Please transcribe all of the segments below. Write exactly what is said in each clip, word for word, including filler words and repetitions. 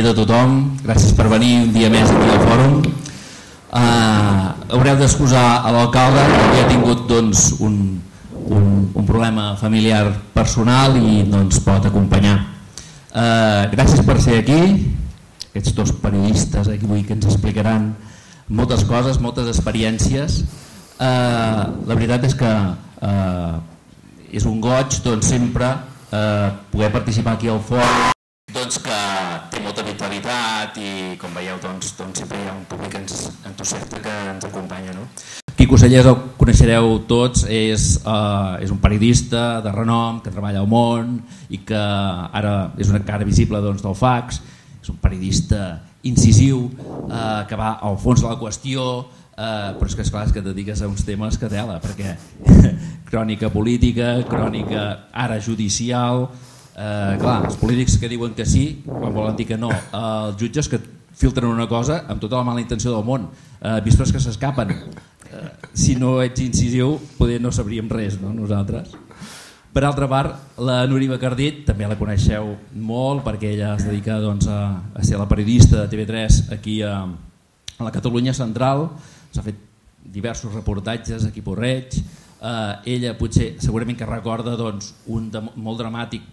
A tothom, gràcies per venir un dia més aquí al fòrum. Uh, haureu d'excusar a l'alcalde que ha tingut doncs, un, un, un problema familiar personal i no ens pot acompanyar. Uh, gràcies per ser aquí, aquests dos periodistes aquí avui que ens explicaran moltes coses, moltes experiències. Uh, la veritat és que uh, és un goig doncs, sempre uh, poder participar aquí al fòrum, doncs, que té molta vitalitat i com veieu doncs, doncs sempre hi ha un públic entusiasta que ens acompanya. No? Quico Sellers el coneixereu tots, és, uh, és un periodista de renom que treballa al món i que ara és una cara visible doncs, del Fax. És un periodista incisiu uh, que va al fons de la qüestió, uh, però és que esclar, és que et dediques a uns temes que tela, perquè crònica política, crònica ara judicial. Uh, clar, els polítics que diuen que sí quan volen dir que no, uh, els jutges que filtren una cosa amb tota la mala intenció del món, uh, vísperes que s'escapen. Uh, si no ets incisiu poder no sabríem res, no? Nosaltres. Per altra part, la Núria Bacardit també la coneixeu molt perquè ella es dedica doncs, a, a ser la periodista de T V tres aquí a, a la Catalunya Central. S'ha fet diversos reportatges aquí a Porreig. Uh, ella potser segurament que recorda doncs, un de, molt dramàtic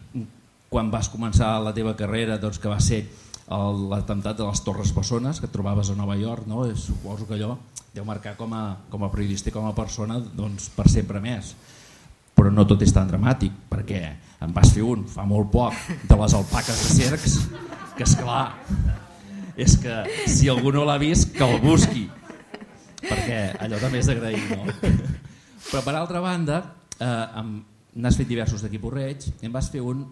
quan vas començar la teva carrera, doncs, que va ser l'atemptat de les Torres Bessones que et trobaves a Nova York, no? Suposo que allò deu marcar com a, com a periodista i com a persona doncs, per sempre més. Però no tot és tan dramàtic, perquè em vas fer un fa molt poc de les alpaques de Cercs, que esclar, és que si algú no l'ha vist que el busqui, perquè allò també és d'agrair, no? Però per altra banda, eh, n'has fet diversos d'aquí a Porreig, em vas fer un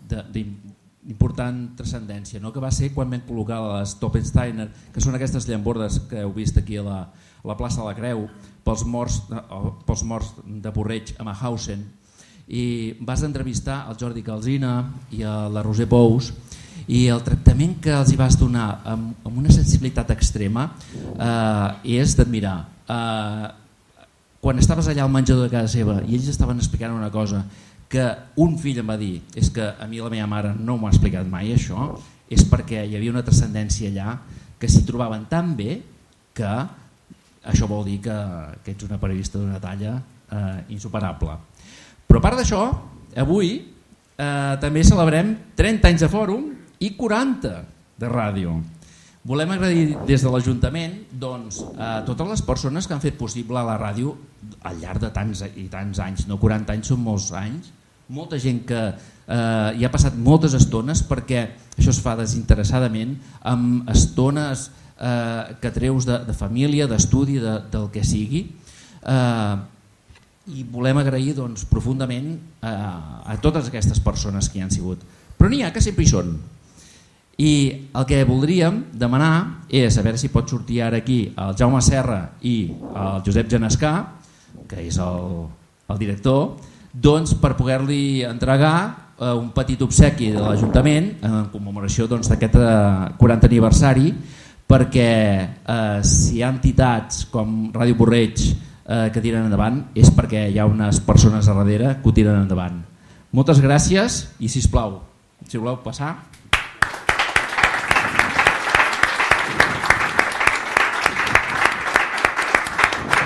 d'important transcendència, no? Que va ser quan vam col·locar les Toppensteiner, que són aquestes llambordes que heu vist aquí a la, a la plaça de la Creu, pels morts, pels morts de Porreig a Mauthausen, i vas entrevistar el Jordi Calsina i a la Roser Pous, i el tractament que els hi vas donar amb, amb una sensibilitat extrema eh, és d'admirar. Eh, quan estaves allà al menjador de casa seva i ells estaven explicant una cosa que un fill em va dir, és que a mi la meva mare no m'ho ha explicat mai això, és perquè hi havia una transcendència allà que s'hi trobaven tan bé que això vol dir que, que ets una periodista d'una talla eh, insuperable. Però a part d'això, avui eh, també celebrem trenta anys de fòrum i quaranta de ràdio. Volem agrair des de l'Ajuntament doncs, a totes les persones que han fet possible la ràdio al llarg de tants i tants anys, no quaranta anys, són molts anys, molta gent que eh, hi ha passat moltes estones perquè això es fa desinteressadament, amb estones eh, que treus de, de família, d'estudi, de, del que sigui, eh, i volem agrair doncs, profundament eh, a totes aquestes persones que hi han sigut. Però n'hi ha que sempre hi són. I el que voldríem demanar és a veure si pot sortir ara aquí el Jaume Serra i el Josep Genescà, que és el, el director, doncs per poder-li entregar eh, un petit obsequi de l'Ajuntament en commemoració doncs, d'aquest eh, quaranta aniversari, perquè eh, si hi ha entitats com Ràdio Porreig eh, que tiren endavant és perquè hi ha unes persones a darrere que ho tiren endavant. Moltes gràcies i sisplau, si voleu passar.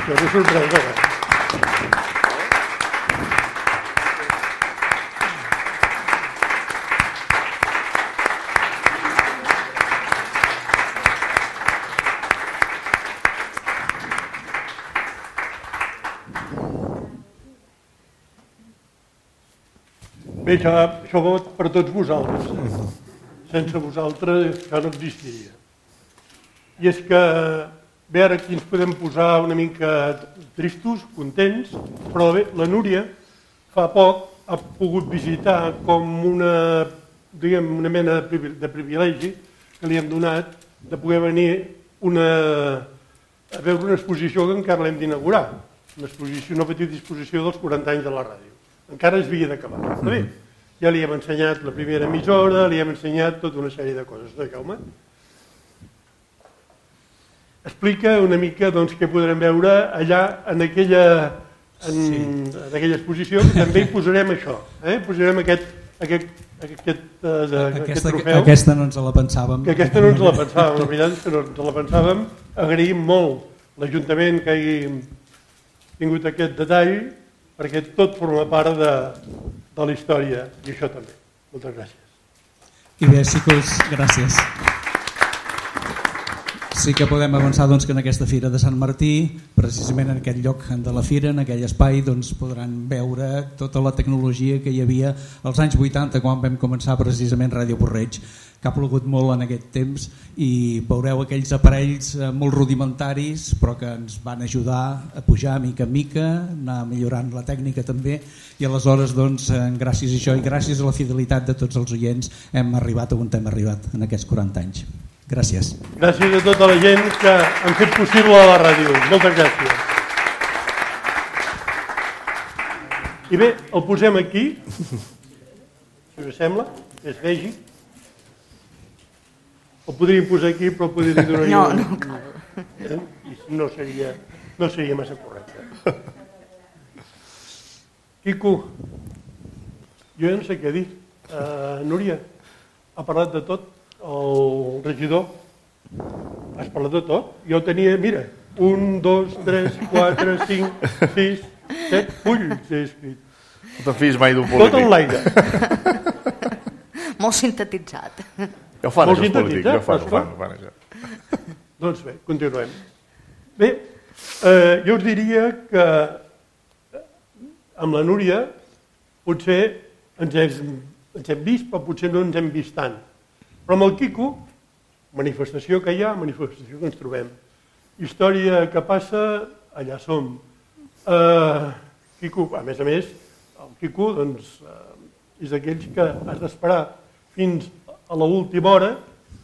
Això és sorpresa. Bé, això, això va per tots vosaltres. Sense vosaltres això no existiria. I és que bé, ara aquí ens podem posar una mica tristos, contents, però bé, la Núria fa poc ha pogut visitar com una, diguem, una mena de privilegi que li hem donat de poder venir una, a veure una exposició que encara l'hem d'inaugurar, una exposició, una petita exposició dels quaranta anys de la ràdio. Encara es havia d'acabar. Està bé? Ja li hem ensenyat la primera emissora, li hem ensenyat tota una sèrie de coses, no, Jaume? Explica una mica doncs, què podrem veure allà en aquella, en, sí. en aquella exposició, que també hi posarem això, eh? Posarem aquest, aquest, aquest, uh, de, aquesta, aquest trofeu. Aquesta no ens la pensàvem. Que aquesta no ens la pensàvem, la veritat és que no ens la pensàvem. Agraïm molt l'Ajuntament que hagi tingut aquest detall, perquè tot forma part de, de la història, i això també. Moltes gràcies. I bé, xicos, gràcies. Sí que podem avançar doncs, que en aquesta Fira de Sant Martí, precisament en aquest lloc de la Fira, en aquell espai, doncs, podran veure tota la tecnologia que hi havia als anys vuitanta, quan vam començar precisament Ràdio Porreig, que ha plogut molt en aquest temps, i veureu aquells aparells molt rudimentaris, però que ens van ajudar a pujar mica en mica, anar millorant la tècnica també, i aleshores, doncs, gràcies a això i gràcies a la fidelitat de tots els oients, hem arribat on hem arribat en aquests quaranta anys. Gràcies. Gràcies a tota la gent que han fet possible la ràdio. Moltes gràcies. I bé, el posem aquí, si us sembla, que es vegi. El podríem posar aquí, però podria donar... No, no cal. Eh? No seria, no seria massa correcte. Quico, jo ja no sé què dir. Uh, Núria, ha parlat de tot. El regidor, has parlat de tot? Jo tenia, mira, un, dos, tres, quatre, cinc, sis, set fulls he escrit. No te'n fies mai d'un polític. Tot en l'aire. Molt sintetitzat. Ja ho fan, això, els polítics. Ja ho fan, ho fan, ho fan, això. Doncs bé, continuem. Bé, eh, jo us diria que amb la Núria potser ens hem, ens hem vist, però potser no ens hem vist tant. Però amb el Quico, manifestació que hi ha, manifestació que ens trobem. Història que passa, allà som. Uh, Quico, a més a més, el Quico doncs, uh, és d'aquells que has d'esperar fins a l'última hora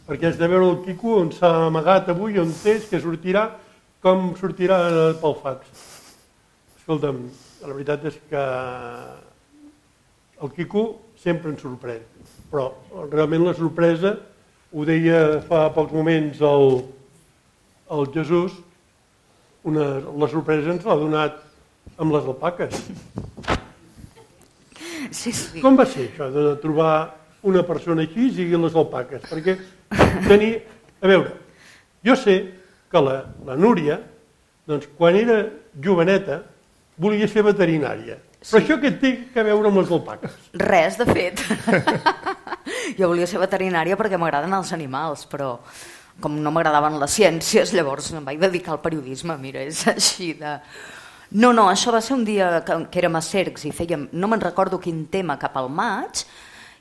perquè has de veure el Quico on s'ha amagat avui, on és, que sortirà, com sortirà pel fax. Escolta'm, la veritat és que el Quico sempre ens sorprèn. Però realment la sorpresa, ho deia fa pocs moments el, el Jesús, una, la sorpresa ens l'ha donat amb les alpaques. Sí, sí. Com va ser això de trobar una persona així i les alpaques? Perquè tenir... A veure, jo sé que la, la Núria, doncs, quan era joveneta, volia ser veterinària. Però sí. Això què té a veure amb les alpaques? Res, de fet. Jo volia ser veterinària perquè m'agraden els animals, però com no m'agradaven les ciències, llavors em vaig dedicar al periodisme. Mira, és així de... No, no, això va ser un dia que, que érem a Cercs i fèiem, no me'n recordo quin tema, cap al maig,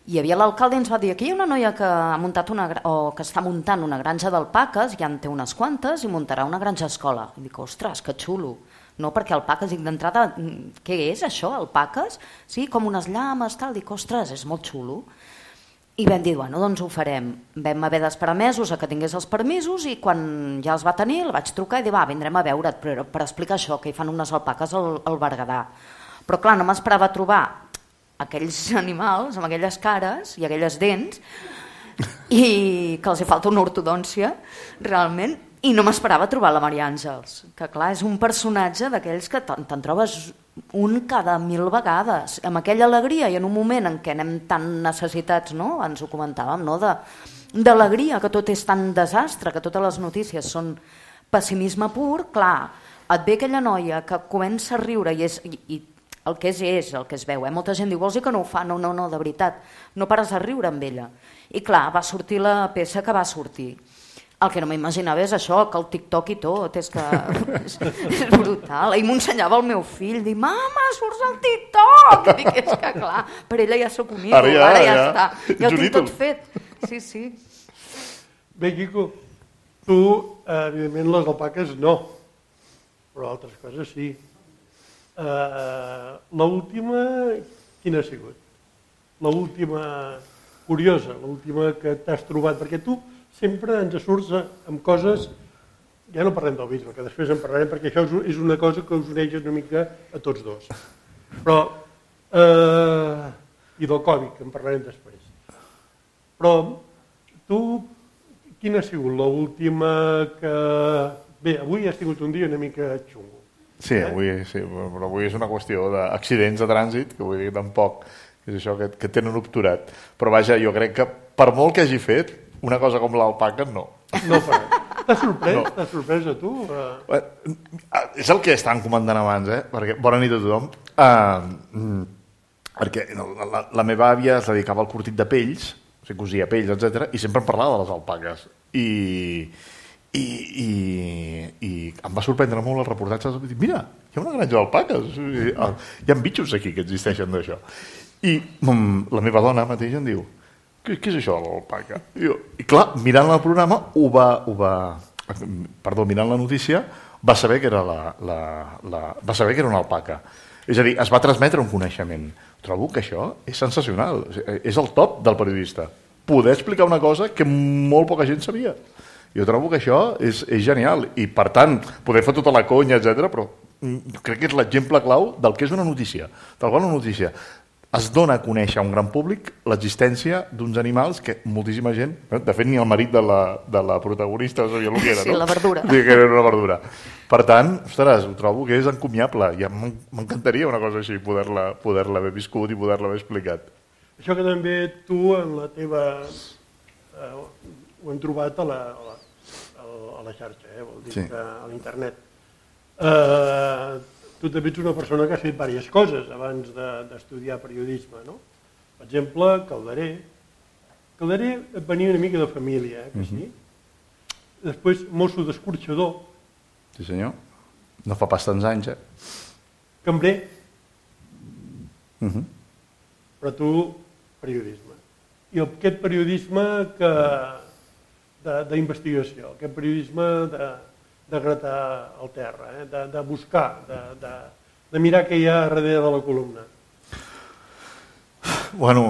i hi havia l'alcalde i ens va dir aquí hi ha una noia que ha muntat una, o que està muntant una granja d'alpaques, ja en té unes quantes, i muntarà una granja escola. I dic, ostres, que xulo. No, perquè alpaques, dic d'entrada, què és això, alpaques? Sí, com unes llames, tal, dic, ostres, és molt xulo. I vam dir, bueno, doncs ho farem. Vam haver d'esperar mesos a que tingués els permisos i quan ja els va tenir, el vaig trucar i dir, va, vindrem a veure't per, per explicar això, que hi fan unes alpaques al, al Berguedà. Però clar, no m'esperava trobar aquells animals amb aquelles cares i aquelles dents i que els hi falta una ortodòncia, realment, i no m'esperava trobar la Maria Àngels, que clar, és un personatge d'aquells que te'n trobes un cada mil vegades, amb aquella alegria i en un moment en què anem tan necessitats, no? Ens ho comentàvem, no? De, d'alegria, que tot és tan desastre, que totes les notícies són pessimisme pur, clar, et ve aquella noia que comença a riure i, és, i, i el que és és, el que es veu, eh? Molta gent diu, vols dir que no ho fa? No, no, no, de veritat, no pares de riure amb ella. I clar, va sortir la peça que va sortir. El que no m'imaginava és això, que el TikTok i tot, és que és, és brutal. Ahir m'ensenyava el meu fill, dic, mama, surts al TikTok! I dic, és que clar, per ella ja sóc un ídol, ara ja, ara ja, ja està, ja ho tinc tot fet. Sí, sí. Bé, Quico, tu, evidentment, les alpaques no, però altres coses sí. Uh, l'última, quina ha sigut? L'última curiosa, l'última que t'has trobat, perquè tu sempre ens surts amb coses ja no parlem del bisbe, que després en parlarem, perquè això és una cosa que us uneix una mica a tots dos. Però, eh, i del Covid, que en parlarem després. Però tu, quina ha sigut l'última que... Bé, avui has tingut un dia una mica xungo. Sí, avui, sí, però avui és una qüestió d'accidents de trànsit, que vull dir tampoc, és això que, que tenen obturat. Però vaja, jo crec que per molt que hagi fet, una cosa com l'alpaca, no. No farà. T'has sorprès? No. T'has sorprès a tu? Uh... És el que estàvem comentant abans, eh? Perquè, bona nit a tothom. Uh, perquè la, la meva àvia es dedicava al curtit de pells, o sigui, cosia pells, etcètera, i sempre em parlava de les alpaques. I, i, i, i em va sorprendre molt el reportatge. Mira, hi ha una granja d'alpaques. Hi ha bitxos aquí que existeixen d'això. I um, la meva dona mateix em diu: Què, què és això de l'alpaca? I, I clar, mirant el programa, ho va, ho va, perdó, mirant la notícia, va saber que era, la, la, la, va saber que era una alpaca. És a dir, es va transmetre un coneixement. Trobo que això és sensacional, és el top del periodista. Poder explicar una cosa que molt poca gent sabia. Jo trobo que això és, és genial i, per tant, poder fer tota la conya, etcètera, però crec que és l'exemple clau del que és una notícia. Tal qual una notícia. Es dona a conèixer a un gran públic l'existència d'uns animals que moltíssima gent, de fet ni el marit de la, de la protagonista sabia el que era, no? Sí, la verdura. Sí, que era una verdura. Per tant, ostres, ho trobo que és encomiable. Ja m'encantaria una cosa així, poder-la poder-la haver viscut i poder-la haver explicat. Això que també tu en la teva... Eh, ho hem trobat a la, a la, a la xarxa, eh? Vol dir sí. Que a l'internet. Eh... Tu també ets una persona que ha fet diverses coses abans d'estudiar periodisme, no? Per exemple, Calderer. Calderer venia una mica de família, eh, que sí? Uh-huh. Després, mosso d'escorxador. Sí, senyor. No fa pas tants anys, eh? Cambrer. Uh-huh. Però tu, periodisme. I aquest periodisme que d'investigació, aquest periodisme de... de gratar al terra, eh? de, de buscar, de, de, de mirar què hi ha darrere de la columna. Bueno,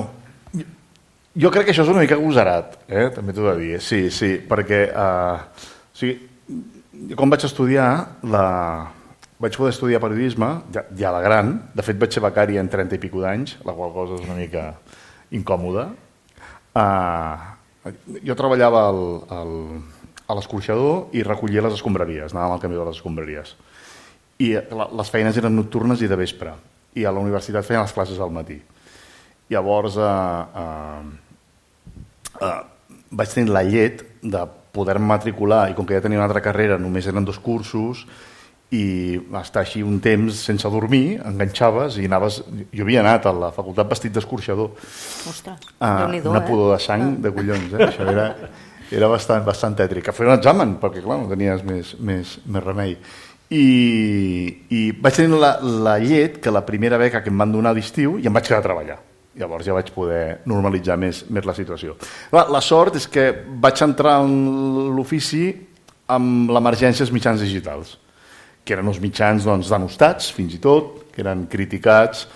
jo crec que això és una mica agosarat, eh? També t'ho he de dir. Sí, sí, perquè uh, o sigui, quan vaig estudiar, la... vaig poder estudiar periodisme, ja, ja de gran, de fet vaig ser becari en trenta i pico d'anys, la qual cosa és una mica incòmoda. Uh, jo treballava al... al a l'escorxador i recollia les escombraries, anàvem al camió de les escombraries. I les feines eren nocturnes i de vespre, i a la universitat feien les classes al matí. Llavors eh, eh, eh, vaig tenir la llet de poder-me matricular, i com que ja tenia una altra carrera, només eren dos cursos, i estar així un temps sense dormir, enganxaves i anaves... Jo havia anat a la facultat vestit d'escorxador. Ostres, eh, Déu-n'hi-do, una eh? pudor de sang de collons, eh? Això era... Era bastant, bastant tètric. A fer un examen, perquè clar, no tenies més, més, més remei. I, i vaig tenir la, la llet que la primera beca que em van donar d'estiu i em vaig quedar a treballar. Llavors ja vaig poder normalitzar més, més la situació. La, la sort és que vaig entrar en l'ofici amb l'emergència dels mitjans digitals, que eren uns mitjans doncs, denostats, fins i tot, que eren criticats,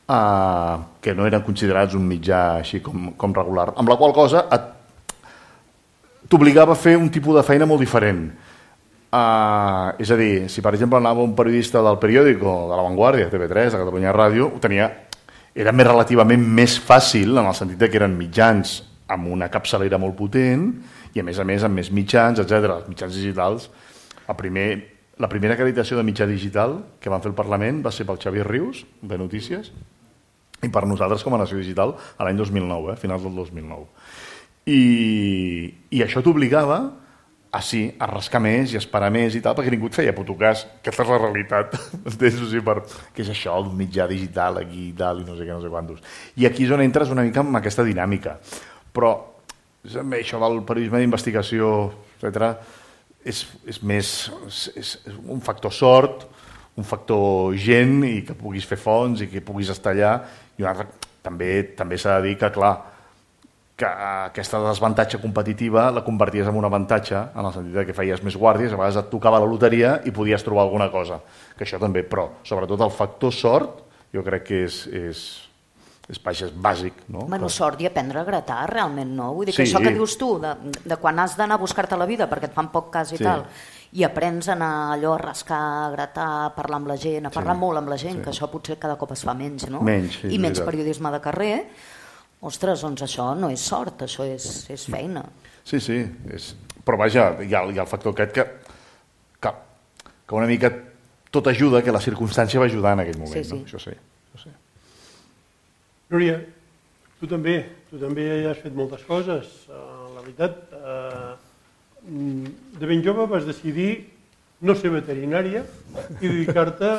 eh, que no eren considerats un mitjà així com, com regular. Amb la qual cosa et t'obligava a fer un tipus de feina molt diferent. Uh, és a dir, si per exemple anava un periodista del periòdico, de La Vanguardia, T V tres, de Catalunya Ràdio, ho tenia, era més relativament més fàcil, en el sentit que eren mitjans amb una capçalera molt potent i a més a més amb més mitjans, etcètera. Els mitjans digitals, el primer, la primera acreditació de mitjà digital que van fer el Parlament va ser pel Xavier Rius, de Notícies, i per nosaltres com a Nació Digital a l'any dos mil nou, eh, finals del dos mil nou. I, i això t'obligava a, sí, a rascar més i a esperar més i tal, perquè ningú et feia puto cas. Aquesta és la realitat. Entens? O sigui, per... Què és això d'un mitjà digital aquí i tal, i no sé què, no sé quantos. I aquí és on entres una mica amb aquesta dinàmica. Però això del periodisme d'investigació, etcètera, és, és més és, és un factor sort, un factor gent, i que puguis fer fonts i que puguis estar allà. I un altre, també també s'ha de dir que, clar, que aquesta desavantatge competitiva la converties en un avantatge, en el sentit que feies més guàrdies, a vegades et tocava la loteria i podies trobar alguna cosa, que això també, però sobretot el factor sort jo crec que és, és, és baix, és bàsic, no? Bueno, Però... sort i aprendre a gratar, realment, no? Vull dir que Sí. això que dius tu, de, de quan has d'anar a buscar-te la vida perquè et fan poc cas i Sí. tal, i aprens a anar allò a rascar, a gratar, a parlar amb la gent, a parlar Sí. molt amb la gent, Sí. que això potser cada cop es fa menys, no? Menys, sí, I menys veritat. periodisme de carrer. Ostres, doncs això no és sort, això és, és feina. Sí, sí, és... però vaja, hi ha, hi ha el factor aquest que, que, que una mica tot ajuda, que la circumstància va ajudar en aquell moment, Sí, sí. no? Això sí, això sí. Núria, tu també, tu també has fet moltes coses. Uh, la veritat, uh, de ben jove vas decidir no ser veterinària i dedicar-te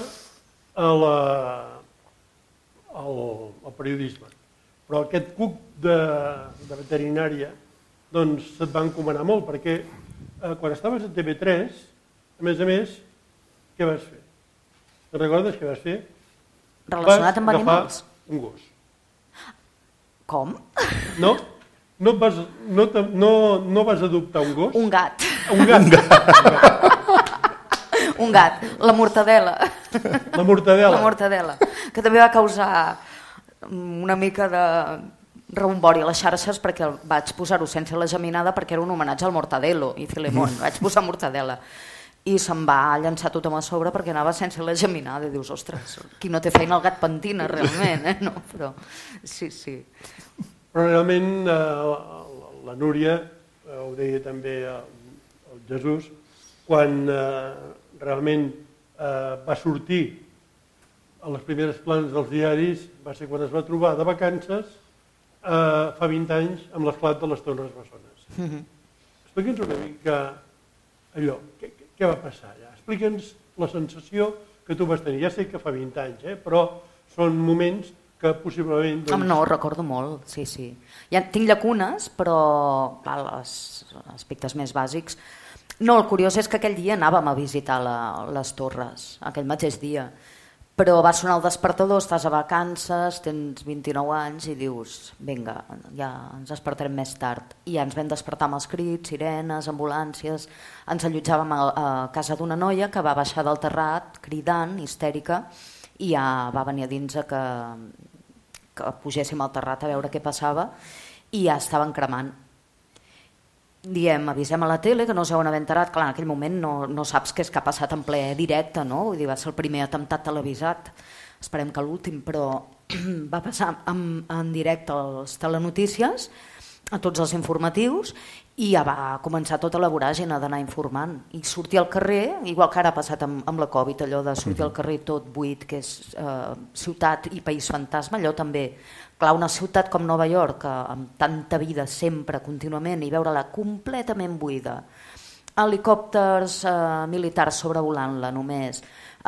a la, al, al periodisme. Però aquest cuc de, de veterinària doncs se't va encomanar molt, perquè eh, quan estaves a T V tres, a més a més, què vas fer? Te'n recordes què vas fer? Relacionat amb Vas agafar animals? un gos. Com? No? No, et vas, no, te- no, no vas adoptar un gos? Un gat. Un gat. Un gat. Un gat. La mortadela. La mortadela. La mortadela. Que també va causar una mica de rebombori a les xarxes perquè el vaig posar-ho sense la geminada perquè era un homenatge al Mortadelo i Filemón. Vaig posar mortadela. I se'n va llançar tothom a sobre perquè anava sense la geminada i dius, ostres, qui no té feina el gat pentina realment, eh? No, però sí, sí. Però realment eh, la, la Núria, eh, ho deia també el, el Jesús, quan eh, realment eh, va sortir a les primeres planes dels diaris va ser quan es va trobar de vacances eh, fa vint anys amb l'esclat de les Torres Bessones. Mhm. Explica'ns una mica allò, què, què va passar allà? Explica'ns la sensació que tu vas tenir. Ja sé que fa vint anys, eh, però són moments que possiblement... Ah, no, ho recordo molt, sí, sí. Ja tinc llacunes, però clar, els aspectes més bàsics... No, el curiós és que aquell dia anàvem a visitar la, les torres, aquell mateix dia, però va sonar el despertador, estàs a vacances, tens vint-i-nou anys i dius, vinga, ja ens despertarem més tard. I ja ens vam despertar amb els crits, sirenes, ambulàncies, ens allotjàvem a, a casa d'una noia que va baixar del terrat cridant, histèrica, i ja va venir a dins a que, que pugéssim al terrat a veure què passava i ja estaven cremant. Diem, avisem a la tele que no us heuen enterat. Clar, en aquell moment no, no saps què és que ha passat en ple directe, no? Vull dir, va ser el primer atemptat televisat, esperem que l'últim, però va passar en, en directe als telenotícies, a tots els informatius, i ja va començar tota la voràgina d'anar informant. I sortir al carrer, igual que ara ha passat amb, amb la Covid, allò de sortir al carrer tot buit, que és eh, ciutat i país fantasma, allò també. Clar, una ciutat com Nova York, amb tanta vida sempre, contínuament, i veure-la completament buida, helicòpters eh, militars sobrevolant-la només,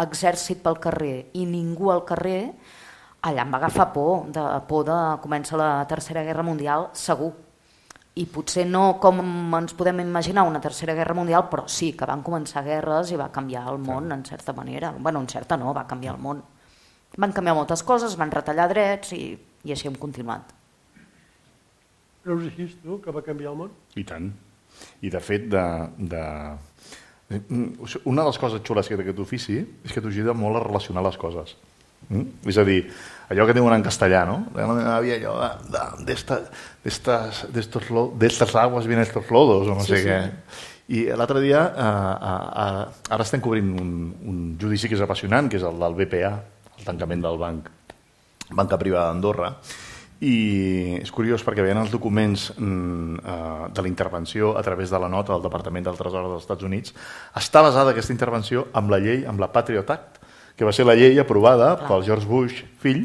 exèrcit pel carrer i ningú al carrer, allà em va agafar por, de, por de començar la Tercera Guerra Mundial, segur. I potser no com ens podem imaginar una Tercera Guerra Mundial, però sí que van començar guerres i va canviar el món, en certa manera. Bueno, en certa no, va canviar el món. Van canviar moltes coses, van retallar drets i, i així hem continuat. Creus així, tu, que va canviar el món? I tant. I de fet, de, de... una de les coses xules que té aquest ofici és que t'ajuda molt a relacionar les coses. Mm? És a dir, allò que diuen en castellà, no? La meva àvia, allò de, de, d'estas, d'estos, d'estas aguas vienen estos lodos, o no Sí, sé sí. què. I l'altre dia, eh, eh, ara estem cobrint un, un judici que és apassionant, que és el del B P A, el tancament del banc, banca privada d'Andorra, i és curiós perquè veien els documents mm, eh, de la intervenció a través de la nota del Departament del Tresor dels Estats Units. Està basada aquesta intervenció amb la llei, amb la Patriot Act, que va ser la llei aprovada Clar. pel George Bush, fill,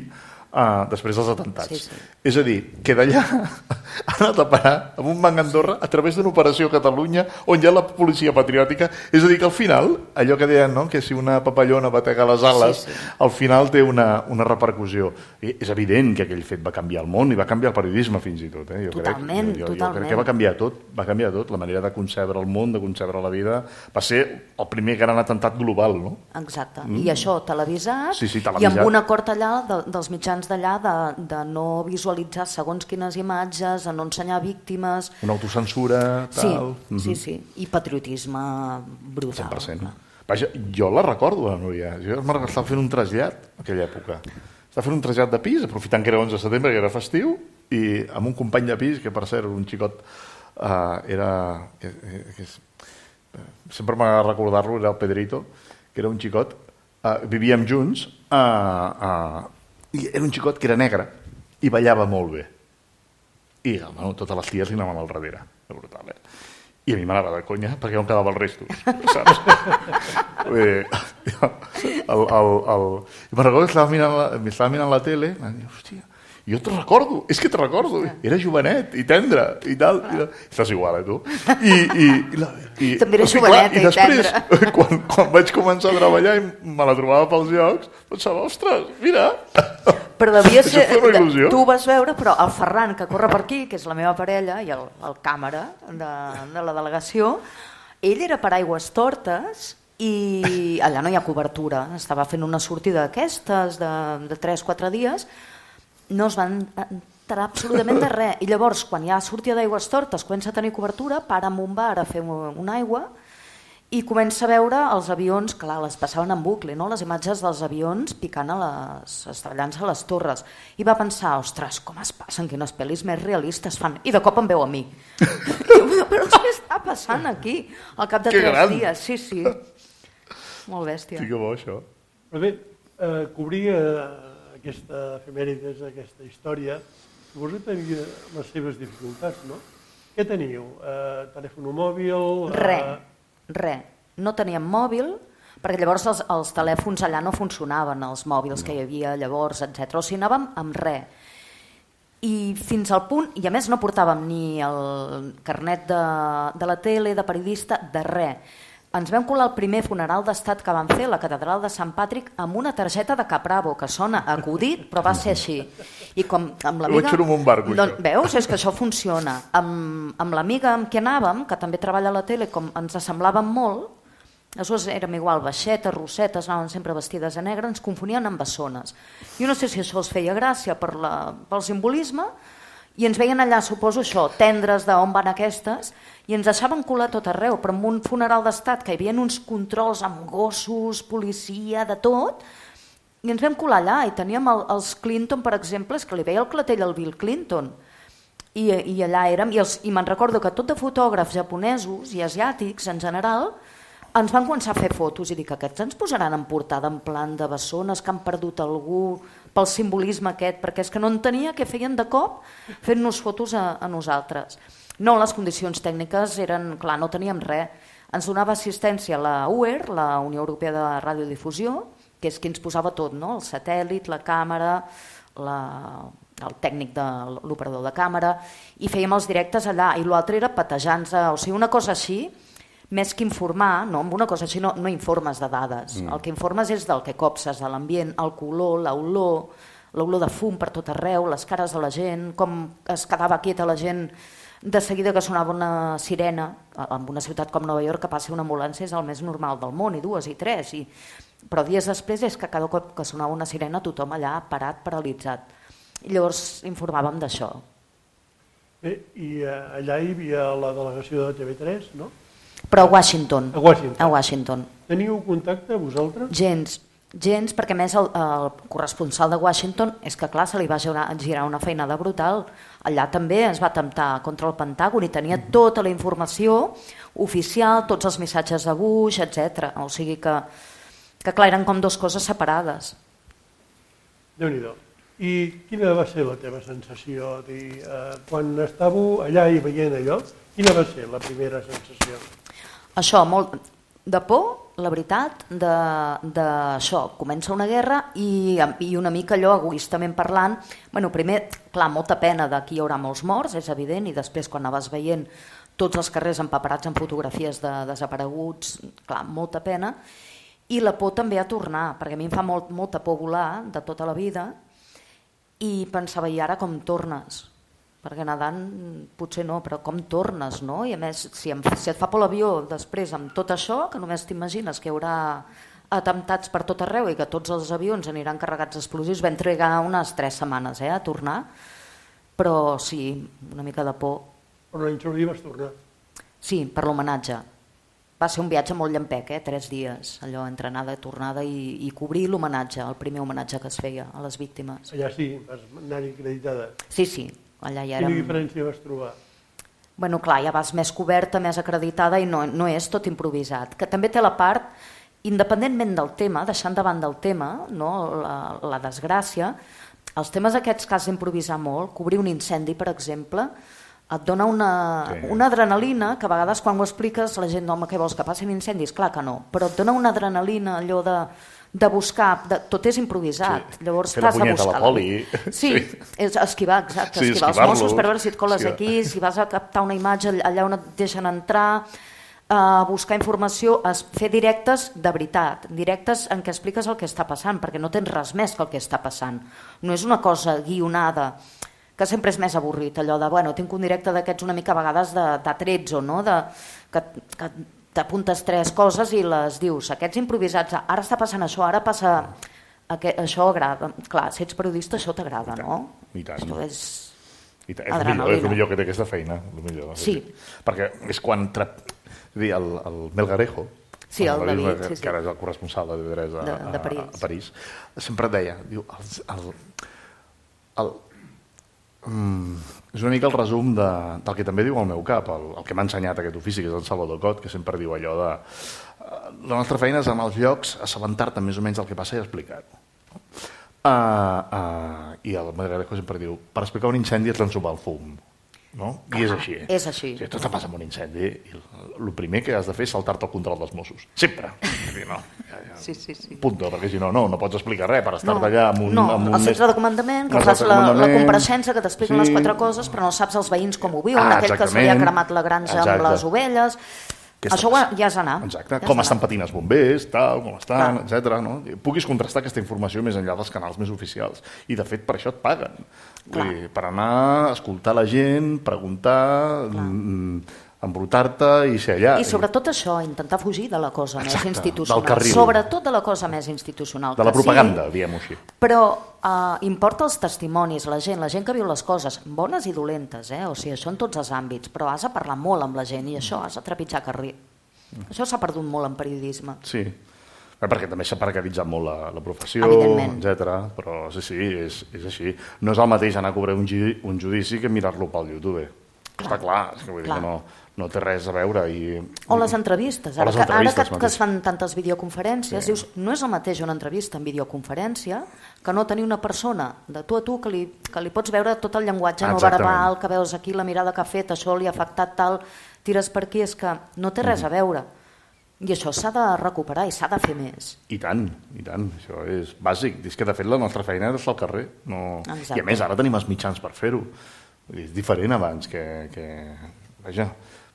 uh, després dels atemptats. Sí, sí. És a dir, que d'allà ha anat a parar amb un banc a Andorra a través d'una operació a Catalunya on hi ha la policia patriòtica. És a dir, que al final, allò que deien, no? Que si una papallona batega les ales, Sí, sí. al final té una, una repercussió. I és evident que aquell fet va canviar el món i va canviar el periodisme fins i tot. Eh? Jo Totalment, crec, jo, jo, totalment. Jo crec que va canviar tot, va canviar tot, la manera de concebre el món, de concebre la vida. Va ser el primer gran atemptat global, no? Exacte. Mm. I això televisat, Sí, sí, i televisat. amb un acord allà de, dels mitjans d'allà de, de no visualitzar segons quines imatges, de no ensenyar víctimes... Una autocensura, Sí, tal... sí, sí. I patriotisme brutal. cent per cent. clar. Vaja, jo la recordo, la Núria. Jo estava fent un trasllat en aquella època. estava fent un trasllat de pis, aprofitant que era onze de setembre, que era festiu, i amb un company de pis, que per cert era un xicot, uh, era... Que, que és, sempre m'agrada recordar-lo, era el Pedrito, que era un xicot, uh, vivíem junts, uh, uh, i era un xicot que era negre, i ballava molt bé. I bueno, totes les ties li anaven al darrere. Era brutal, eh? I a mi m'anava de conya perquè no em quedava els restos, saps? eh, el, el, el... I me'n recordo que estava mirant la, estava mirant la tele i em dic, hòstia, jo te recordo, és que te recordo, era jovenet i tendre i tal. I, estàs igual, eh, tu? I, i, i, la, i, també era o sigui, joveneta clar, i, i després, tendre. Quan, quan vaig començar a treballar i me la trobava pels llocs, pensava, ostres, mira... Però devia ser, il·lusió. tu ho vas veure, però el Ferran, que corre per aquí, que és la meva parella, i el, el càmera de, de la delegació, ell era per Aigües Tortes i allà no hi ha cobertura. Estava fent una sortida d'aquestes de, de tres o quatre dies, no es van enterar absolutament de res. I llavors, quan hi ha sortida d'Aigües Tortes, comença a tenir cobertura, para amb un bar a fer una aigua, i comença a veure els avions, clar, les passaven en bucle, no? Les imatges dels avions picant a les, estrellant-se a les torres. I va pensar, ostres, com es passen, quines pel·lis més realistes fan. I de cop em veu a mi. Diu, però què està passant aquí? Al cap de que tres gran. dies, sí, sí. Molt bèstia. Sí que bo, això. Però bé, eh, cobrir eh, aquesta efemèrides, aquesta història, suposo que tenia les seves dificultats, no? Què teníeu? Eh, telèfon mòbil? Eh... Re. Re, no teníem mòbil, perquè llavors els, els telèfons allà no funcionaven, els mòbils que hi havia llavors, etcètera. O sigui, anàvem amb re. I fins al punt, i a més no portàvem ni el carnet de, de la tele, de periodista, de re. Ens vam colar el primer funeral d'estat que van fer a la catedral de Sant Patrick amb una targeta de Capravo, que sona acudit, però va ser així. I com amb l'amiga... Ho vaig fer amb un barco, doncs, això. veus, és que això funciona. Amb, amb l'amiga amb qui anàvem, que també treballa a la tele, com ens assemblàvem molt, aleshores érem igual, baixetes, rossetes, anaven sempre vestides de negre, ens confonien amb bessones. Jo no sé si això els feia gràcia per la, pel simbolisme, i ens veien allà, suposo això, tendres d'on van aquestes, i ens deixaven colar tot arreu, però en un funeral d'estat que hi havia uns controls amb gossos, policia, de tot, i ens vam colar allà i teníem el, els Clinton, per exemple, és que li veia el clatell al Bill Clinton, i, i allà érem, i, els, i me'n recordo que tot de fotògrafs japonesos i asiàtics en general ens van començar a fer fotos i dir que aquests ens posaran en portada en plan de bessones que han perdut algú pel simbolisme aquest, perquè és que no entenia què feien de cop fent-nos fotos a, a nosaltres. No, les condicions tècniques eren, clar, no teníem res. Ens donava assistència la U E R, la Unió Europea de Radiodifusió, que és qui ens posava tot, no? El satèl·lit, la càmera, la, el tècnic de l'operador de càmera, i fèiem els directes allà, i l'altre era patejant-se, o sigui, una cosa així, més que informar, no, amb una cosa així no, no informes de dades, mm. el que informes és del que copses, de l'ambient, el color, l'olor, l'olor de fum per tot arreu, les cares de la gent, com es quedava quieta la gent de seguida que sonava una sirena, en una ciutat com Nova York que passi una ambulància és el més normal del món, i dues i tres, i... però dies després és que cada cop que sonava una sirena tothom allà parat, paralitzat. I llavors informàvem d'això. Bé, i allà hi havia la delegació de T V tres, no? Però a Washington. A Washington. A Washington. Teniu contacte, vosaltres? Gens, gens, perquè més el, el corresponsal de Washington és que clar, se li va girar, girar una feinada brutal. Allà també es va atemptar contra el Pentàgon i tenia tota la informació oficial, tots els missatges de Bush, etcètera. O sigui que, que clar, eren com dues coses separades. Déu-n'hi-do. I quina va ser la teva sensació? Dir, eh, quan estàveu allà i veient allò, quina va ser la primera sensació? Això, molt de por, la veritat, d'això. Comença una guerra i, i una mica allò, egoistament parlant, bueno, primer, clar, molta pena de que hi haurà molts morts, és evident, i després quan anaves veient tots els carrers empaperats en fotografies de desapareguts, clar, molta pena, i la por també a tornar, perquè a mi em fa molt, molta por volar de tota la vida, i pensava, i ara com tornes? Perquè nedant potser no, però com tornes, no? I a més, si, em, si et fa por l'avió després amb tot això, que només t'imagines que hi haurà atemptats per tot arreu i que tots els avions aniran carregats d'explosius, vam trigar unes tres setmanes eh, a tornar, però sí, una mica de por. Però l'any següent vas tornar. Sí, per l'homenatge. Va ser un viatge molt llampec, eh? tres dies, allò entre anada i tornada i, i cobrir l'homenatge, el primer homenatge que es feia a les víctimes. Allà sí, vas anar-hi acreditada. Sí, sí, allà ja érem... Quina diferència vas trobar? Bueno, clar, ja vas més coberta, més acreditada i no, no és tot improvisat. Que també té la part, independentment del tema, deixant davant del tema, no? la, la desgràcia, els temes aquests que has d'improvisar molt, cobrir un incendi, per exemple, et dona una, sí. una adrenalina que a vegades quan ho expliques la gent, home, què vols, que passin incendis? Clar que no, però et dona una adrenalina allò de, de buscar, de, tot és improvisat, sí. Llavors t'has de buscar. Fer la poli. Sí, sí. És esquivar, exacte, sí, esquivar els Mossos per veure si et coles sí. aquí, si vas a captar una imatge allà on et deixen entrar, a buscar informació, a fer directes de veritat, directes en què expliques el que està passant, perquè no tens res més que el que està passant. No és una cosa guionada, que sempre és més avorrit, allò de, bueno, tinc un directe d'aquests una mica a vegades de, de trets o no, de, que, que t'apuntes tres coses i les dius, aquests improvisats, ara està passant això, ara passa, aquest, això agrada, clar, si ets periodista això t'agrada, no? I tant. Això és I tant. És, el millor, és el millor que té aquesta feina, el millor. Sí. Perquè és quan, tra... el, el Melgarejo, sí, el David, que, sí, sí. que ara és el corresponsal de T tres a, de, de París. A, a París, sempre et deia, diu, el, el, el, Mm, és una mica el resum de, del que també diu el meu cap, el, el que m'ha ensenyat aquest ofici, que és el Salvador Cot, que sempre diu allò de uh, la nostra feina és en els llocs assabentar-te més o menys del que passa i explicar-ho. Uh, uh, I el Madrilejo sempre diu, per explicar un incendi has d'ensumar el fum. No? I és així. És així. Si tot passa amb un incendi, el primer que has de fer és saltar-te el control dels Mossos. Sempre. No, ja, ja. Sí, sí, sí. Punto, perquè si no, no, no pots explicar res per estar-te no, allà amb un... No, amb un el centre de comandament, que fas la, la compareixença, que t'expliquen sí. les quatre coses, però no saps els veïns com ho viuen, ah, aquell que se li ha cremat la granja exacte. amb les ovelles... Això ja has d'anar. Exacte, ja com estan patint els bombers, tal, com estan, etcètera. No? Puguis contrastar aquesta informació més enllà dels canals més oficials. I, de fet, per això et paguen. Dir, per anar a escoltar la gent, preguntar, embrutar-te i ser allà. I sobretot això, intentar fugir de la cosa exacte, més institucional. del carril. Sobretot de la cosa més institucional. De la propaganda, sí, diguem-ho així. Però uh, importa els testimonis, la gent, la gent que viu les coses, bones i dolentes, eh? O sigui, això en tots els àmbits, però has de parlar molt amb la gent i això, has de trepitjar carrer. Mm. Això s'ha perdut molt en periodisme. Sí, perquè també s'ha precaritzat molt la, la professió, etcètera. Però sí, sí, és, és així. No és el mateix anar a cobrar un, un judici que mirar-lo pel YouTube. Clar, està clar, és que vull clar. dir que no... no té res a veure. I... O les entrevistes. Ara, les entrevistes que, ara que, que es fan tantes videoconferències, sí. dius, no és el mateix una entrevista en videoconferència que no tenir una persona de tu a tu que li, que li pots veure tot el llenguatge no verbal, que veus aquí la mirada que ha fet, això li ha afectat tal, tires per aquí, és que no té res a veure. I això s'ha de recuperar i s'ha de fer més. I tant, i tant. Això és bàsic. És que de fet la nostra feina és al carrer. No... I a més ara tenim els mitjans per fer-ho. És diferent abans que... que... Vaja,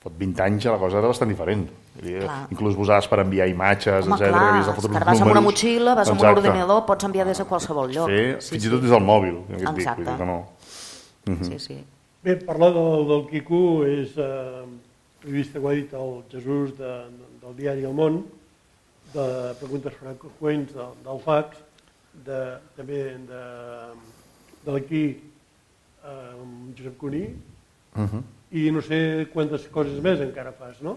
fot vint anys la cosa era bastant diferent. Clar. Inclús vosaves per enviar imatges, home, etcètera. Clar, que que vas amb una motxilla, vas amb un ordinador, pots enviar des de qualsevol lloc. Fer, sí, fins sí. i tot des del mòbil. Exacte. Dic, vull dir que no. uh-huh. sí, sí. Bé, parlar del, del Quico és, eh, he vist que ho ha dit el Jesús de, del diari El Món, de preguntes freqüents del, del fax, de, també de, de l'aquí eh, Josep Cuní, uh-huh. i no sé quantes coses més encara fas, no?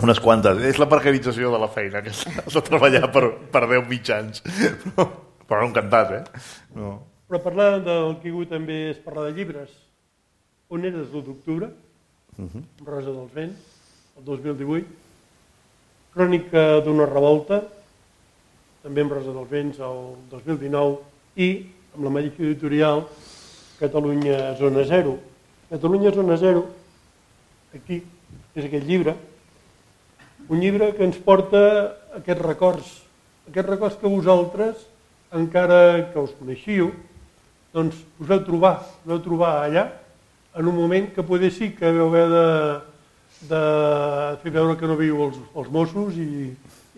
Unes quantes. És la precarització de la feina, que has de treballar per, per deu mitjans. Però, però no encantat, eh? No. Però parlar del Quico també és parlar de llibres. On eres l'u d'octubre? Uh-huh. Rosa dels Vents, el dos mil divuit. Crònica d'una revolta, també amb Rosa dels Vents, el dos mil dinou. I amb la mateixa editorial, Catalunya Zona Zero. Catalunya Zona Zero, aquí, és aquest llibre, un llibre que ens porta aquests records, aquests records que vosaltres, encara que us coneixiu, doncs us vau trobar, us vau trobar allà, en un moment que poder sí que vau haver de, de fer veure que no viu els, els Mossos i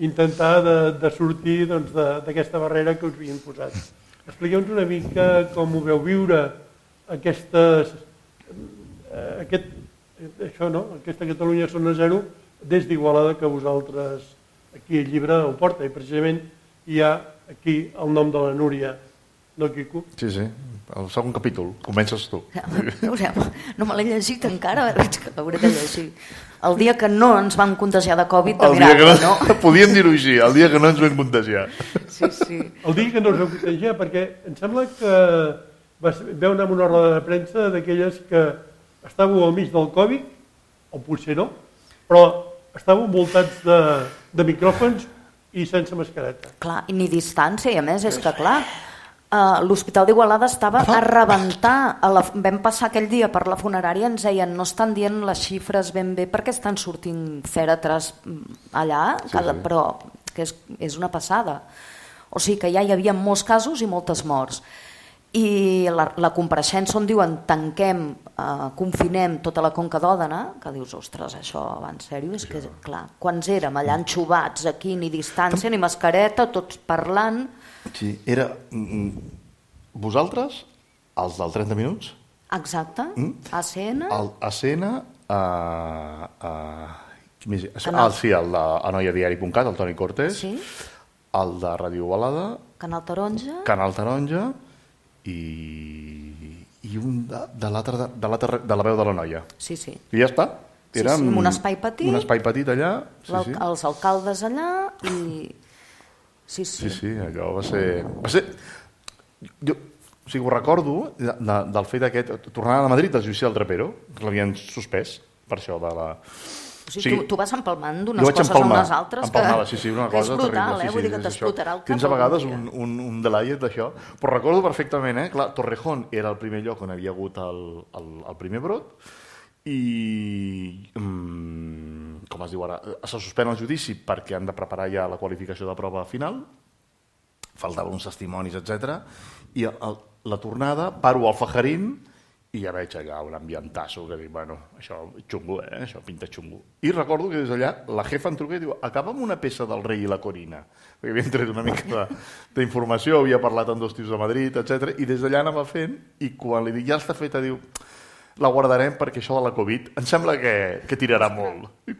intentar de, de sortir doncs, d'aquesta barrera que us havien posat. Expliqueu-nos una mica com ho veu viure aquestes... Aquest, això, no? Aquesta Catalunya Zona Zero des d'Igualada que vosaltres aquí el llibre ho porta i precisament hi ha aquí el nom de la Núria no, Quico? Sí, sí, el segon capítol, comences tu. No, no me l'he llegit encara, veig que l'hauré de llegir. El dia que no ens vam contagiar de Covid, de miracle, no? no? Podíem dir-ho així, el dia que no ens vam contagiar. Sí, sí. El dia que no us vam contagiar, perquè em sembla que veu anar amb una roda de premsa d'aquelles que estàveu al mig del Covid, o potser no, però estàveu envoltats de, de micròfons i sense mascareta. Clar, i ni distància, i a més és que clar, uh, l'Hospital d'Igualada estava a rebentar. A la, vam passar aquell dia per la funerària, ens deien no estan dient les xifres ben bé perquè estan sortint fèretres allà, sí, cada, sí. Però que és, és una passada. O sigui que ja hi havia molts casos i moltes morts. I la, la compareixença on diuen tanquem, eh, confinem tota la Conca d'Òdena, que dius, ostres, això va en sèrio, és que, clar, quants érem allà enxubats aquí, ni distància, ni mascareta, tots parlant... Sí, era... Vosaltres, els del trenta minuts? Exacte, mm? A C N... El A C N... Uh, uh, ah, sí, el de anoiadiari punt cat, el Toni Cortés, sí. El de Ràdio Igualada... Canal Taronja... Canal Taronja... i, i un de, de, l'altre, de, de, l'altre, de la veu de la noia. Sí, sí. I ja està. Érem, sí, sí, un espai petit. Un espai petit allà. Sí, sí. Els alcaldes allà i... Sí, sí. Sí, sí, allò va ser... Va ser... Jo, o sigui, ho recordo de, de, del fet aquest... Tornant a Madrid, el judici del Trapero, que l'havien suspès per això de la... O sigui, sí, tu, tu vas empalmant d'unes coses empalmar, a unes altres empalmava, que, sí, sí, una que cosa és brutal, terrible, eh? Sí, Vull sí, dir que t'explotarà el cap. Tens a vegades un, un, un delayet d'això, però recordo perfectament, eh? Clar, Torrejón era el primer lloc on havia hagut el, el, el primer brot i, um, com es diu ara, se suspèn el judici perquè han de preparar ja la qualificació de prova final, faltaven uns testimonis, etcètera, i el, la tornada, paro al Fajarín, i ja veig allà un ambientasso que dic, bueno, això xungo, eh? Això pinta xungo. I recordo que des d'allà la jefa em truca i diu, acaba amb una peça del Rei i la Corina, perquè havien tret una mica d'informació, havia parlat amb dos tios de Madrid, etcètera, i des d'allà anava fent, i quan li dic, ja està feta, diu, la guardarem perquè això de la Covid em sembla que, que tirarà molt. I,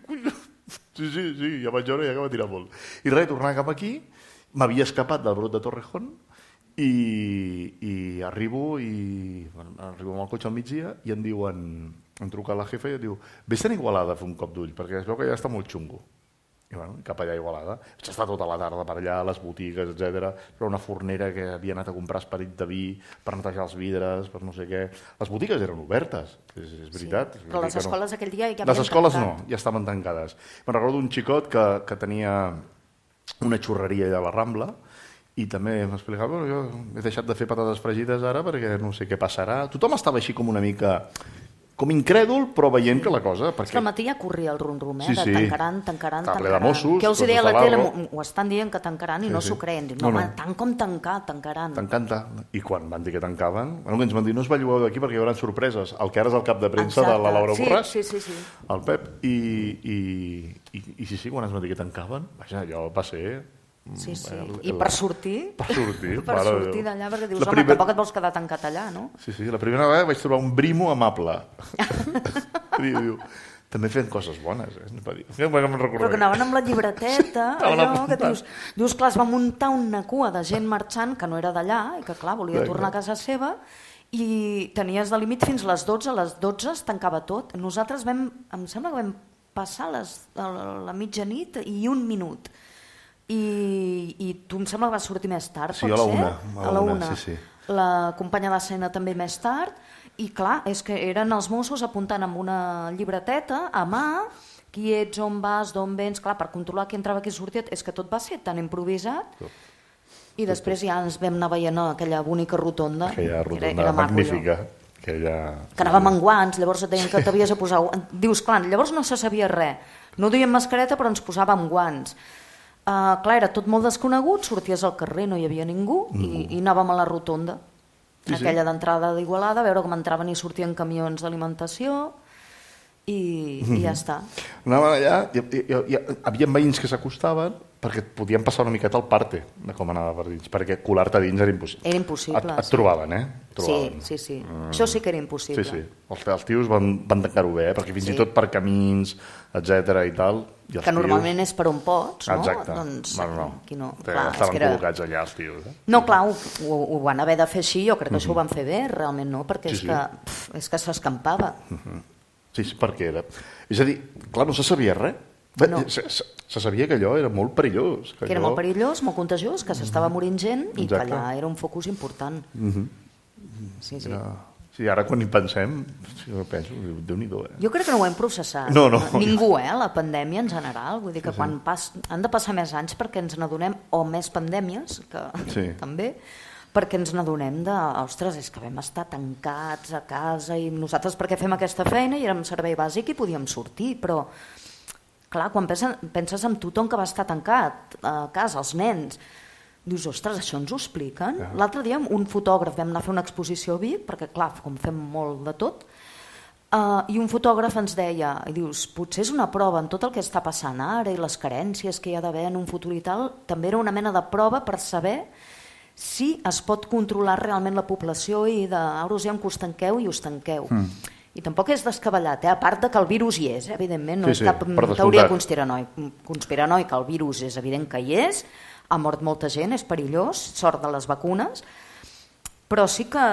sí, sí, sí, ja vaig veure ja que va tirar molt. I res, tornar cap aquí, m'havia escapat del brot de Torrejón, I, i arribo i bueno, arribo amb el cotxe al migdia i em diuen, em truca la jefa i em diu, vés-te'n a Igualada a fer un cop d'ull perquè es veu que ja està molt xungo. I bueno, cap allà a Igualada, vaig estar tota la tarda per allà, les botigues, etcètera. Era una fornera que havia anat a comprar esperit de vi per netejar els vidres, per no sé què. Les botigues eren obertes, és, és veritat. Sí, però les escoles no. Aquell dia ja havien Les escoles tancat. No, ja estaven tancades. Me'n recordo un xicot que, que tenia una xurreria allà a la Rambla i també m'explicava, bueno, jo he deixat de fer patates fregides ara perquè no sé què passarà. Tothom estava així com una mica, com incrèdul, però veient que la cosa... Perquè... És que al matí ja corria el rum-rum, eh? Sí, sí. De tancaran, tancaran, Està ple tancaran. de Mossos, Què els deia a la tele? Barro. Ho estan dient que tancaran i sí, no s'ho sí. Creen. No, no, no. Tant com tancar, tancaran. Tancant, I quan van dir que tancaven, bueno, que ens van dir, no us bellugueu d'aquí perquè hi haurà sorpreses. El que ara és el cap de premsa Exacte. De la Laura sí, Borràs, sí, sí, sí. el Pep, i, i, i, i sí, sí, quan ens van dir que tancaven, vaja, allò va ser... Sí, sí. El, el, I per sortir? Per sortir, per sortir d'allà, perquè dius, home, primer... tampoc et vols quedar tancat allà, no? Sí, sí, la primera vegada vaig trobar un brimo amable. diu, diu, també fent coses bones, eh? Però que anaven amb la llibreteta, allò que dius, dius, clar, es va muntar una cua de gent marxant que no era d'allà i que, clar, volia tornar a casa seva i tenies de límit fins a les dotze, a les dotze es tancava tot. Nosaltres vam, em sembla que vam passar les, la, la mitjanit i un minut. I, i tu em sembla que vas sortir més tard, sí, pot a la ser? Una, a la una. Sí, sí. La companya d'escena també més tard i clar, és que eren els Mossos apuntant amb una llibreteta a mà qui ets, on vas, d'on vens, clar, per controlar qui entrava, qui sortia, és que tot va ser tan improvisat i després ja ens vam anar veient aquella bonica rotonda, aquella rotonda era, era magnífica maco, aquella... que anàvem amb guants, llavors et deien que t'havies de posar, dius, clar, llavors no se sabia res, no duien mascareta però ens posàvem guants. Uh, clar, era tot molt desconegut, sorties al carrer, no hi havia ningú, mm. i, i anàvem a la rotonda, sí, aquella sí. D'entrada d'Igualada, a veure com entraven i sortien camions d'alimentació, i, mm. i ja està. Anàvem allà, hi, hi, hi, hi havia veïns que s'acostaven perquè et podien passar una miqueta al parte de com anava per dins, perquè colar-te dins era impossible. Era impossible. Et, et trobaven, eh? Et trobaven. Sí, sí, sí. Mm. Això sí que era impossible. Sí, sí. Els, els tios van, van tancar-ho bé, eh? Perquè fins sí. I tot per camins, etcètera i tal, I els que normalment tios... és per on pots, no? Exacte. Doncs, no, no. aquí no. Clar, clar, estaven era... col·locats allà els tios. Eh? No, clar, ho, ho, ho van haver de fer així, jo crec que això ho van fer bé, realment no, perquè Sí, és sí. que, pf, és que s'escampava. Sí, sí, perquè era... És a dir, clar, no se sabia res. Bé, No. se, se, se sabia que allò era molt perillós. Que era allò... molt perillós, molt contagiós, que s'estava morint gent i que Exacte. allà era un focus important. Sí, sí. Era... Sí, ara quan hi pensem, sí, jo penso, Déu-n'hi-do, eh? Jo crec que no ho hem processat. No, no. Ningú, eh? La pandèmia en general. Vull dir que quan pas... han de passar més anys perquè ens n'adonem, o més pandèmies, que Sí. també, perquè ens n'adonem de, ostres, és que vam estar tancats a casa i nosaltres perquè fem aquesta feina i érem servei bàsic i podíem sortir, però clar, quan penses, penses en tothom que va estar tancat a casa, els nens, dius, ostres, això ens ho expliquen? Ja. L'altre dia un fotògraf, vam anar a fer una exposició a Vic, perquè clar, com fem molt de tot, uh, i un fotògraf ens deia, i dius, potser és una prova en tot el que està passant ara i les carències que hi ha d'haver en un futur i tal, també era una mena de prova per saber si es pot controlar realment la població i de, ara us diem que us tanqueu i us tanqueu. Mm. I tampoc és descabellat, eh? A part de que el virus hi és, eh? Evidentment, no Sí, és sí, cap per teoria descomptat. conspiranoica, el virus és evident que hi és, ha mort molta gent, és perillós, sort de les vacunes, però sí que,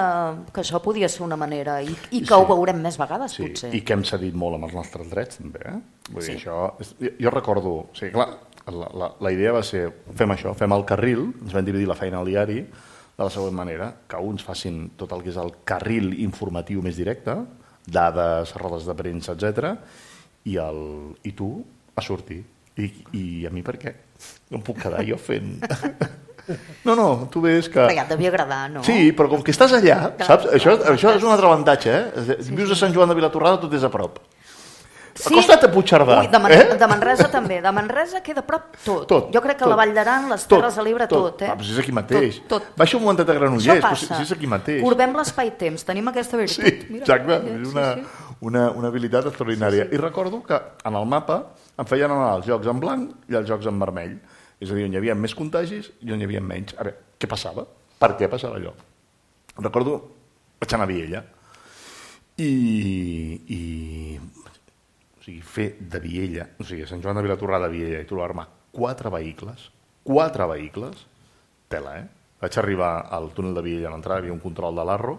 que això podia ser una manera, i, i que Sí. ho veurem més vegades, Sí, potser. i que hem cedit molt amb els nostres drets, també. Eh? Vull dir, Sí. això, és- jo, jo recordo, o sigui, clar, la, la, la idea va ser, fem això, fem el carril, ens vam dividir la feina al diari de la següent manera, que uns facin tot el que és el carril informatiu més directe, dades, rodes de premsa, etcètera, i, el, i tu a sortir. I, I a mi per què? No em puc quedar jo fent... No, no, tu ves que... Però ja et devia agradar, no? Sí, però com que estàs allà, Clar, saps? clar, Això, clar, això clar. és un altre avantatge, eh? Sí, Vius sí. a Sant Joan de Vilatorrada, tot és a prop. Sí. Acosta't a Puigcerdà. Ui, de, Man eh? de Manresa també. De Manresa queda a prop tot. Tot, jo crec que tot. la Vall d'Aran, les Terres de l'Ebre, tot. tot eh? Ah, però si és aquí mateix. Tot, tot. Baixa un momentet a Això Granollers, però si, passa. si és aquí mateix. Corbem l'espai-temps, tenim aquesta virtut. Sí, Mira, exacte. sí, És una, sí, sí. una, una habilitat extraordinària. I recordo que en el mapa em feien anar els jocs en blanc i els jocs en vermell. És a dir, on hi havia més contagis i on hi havia menys. A veure, què passava? Per què passava allò? Recordo, vaig anar a Viella i, i o sigui, fer de Viella, o sigui, Sant Joan de Vilatorrada a Viella i trobar-me quatre vehicles, quatre vehicles, tela, eh? Vaig arribar al túnel de Viella a l'entrada, hi havia un control de l'Arro,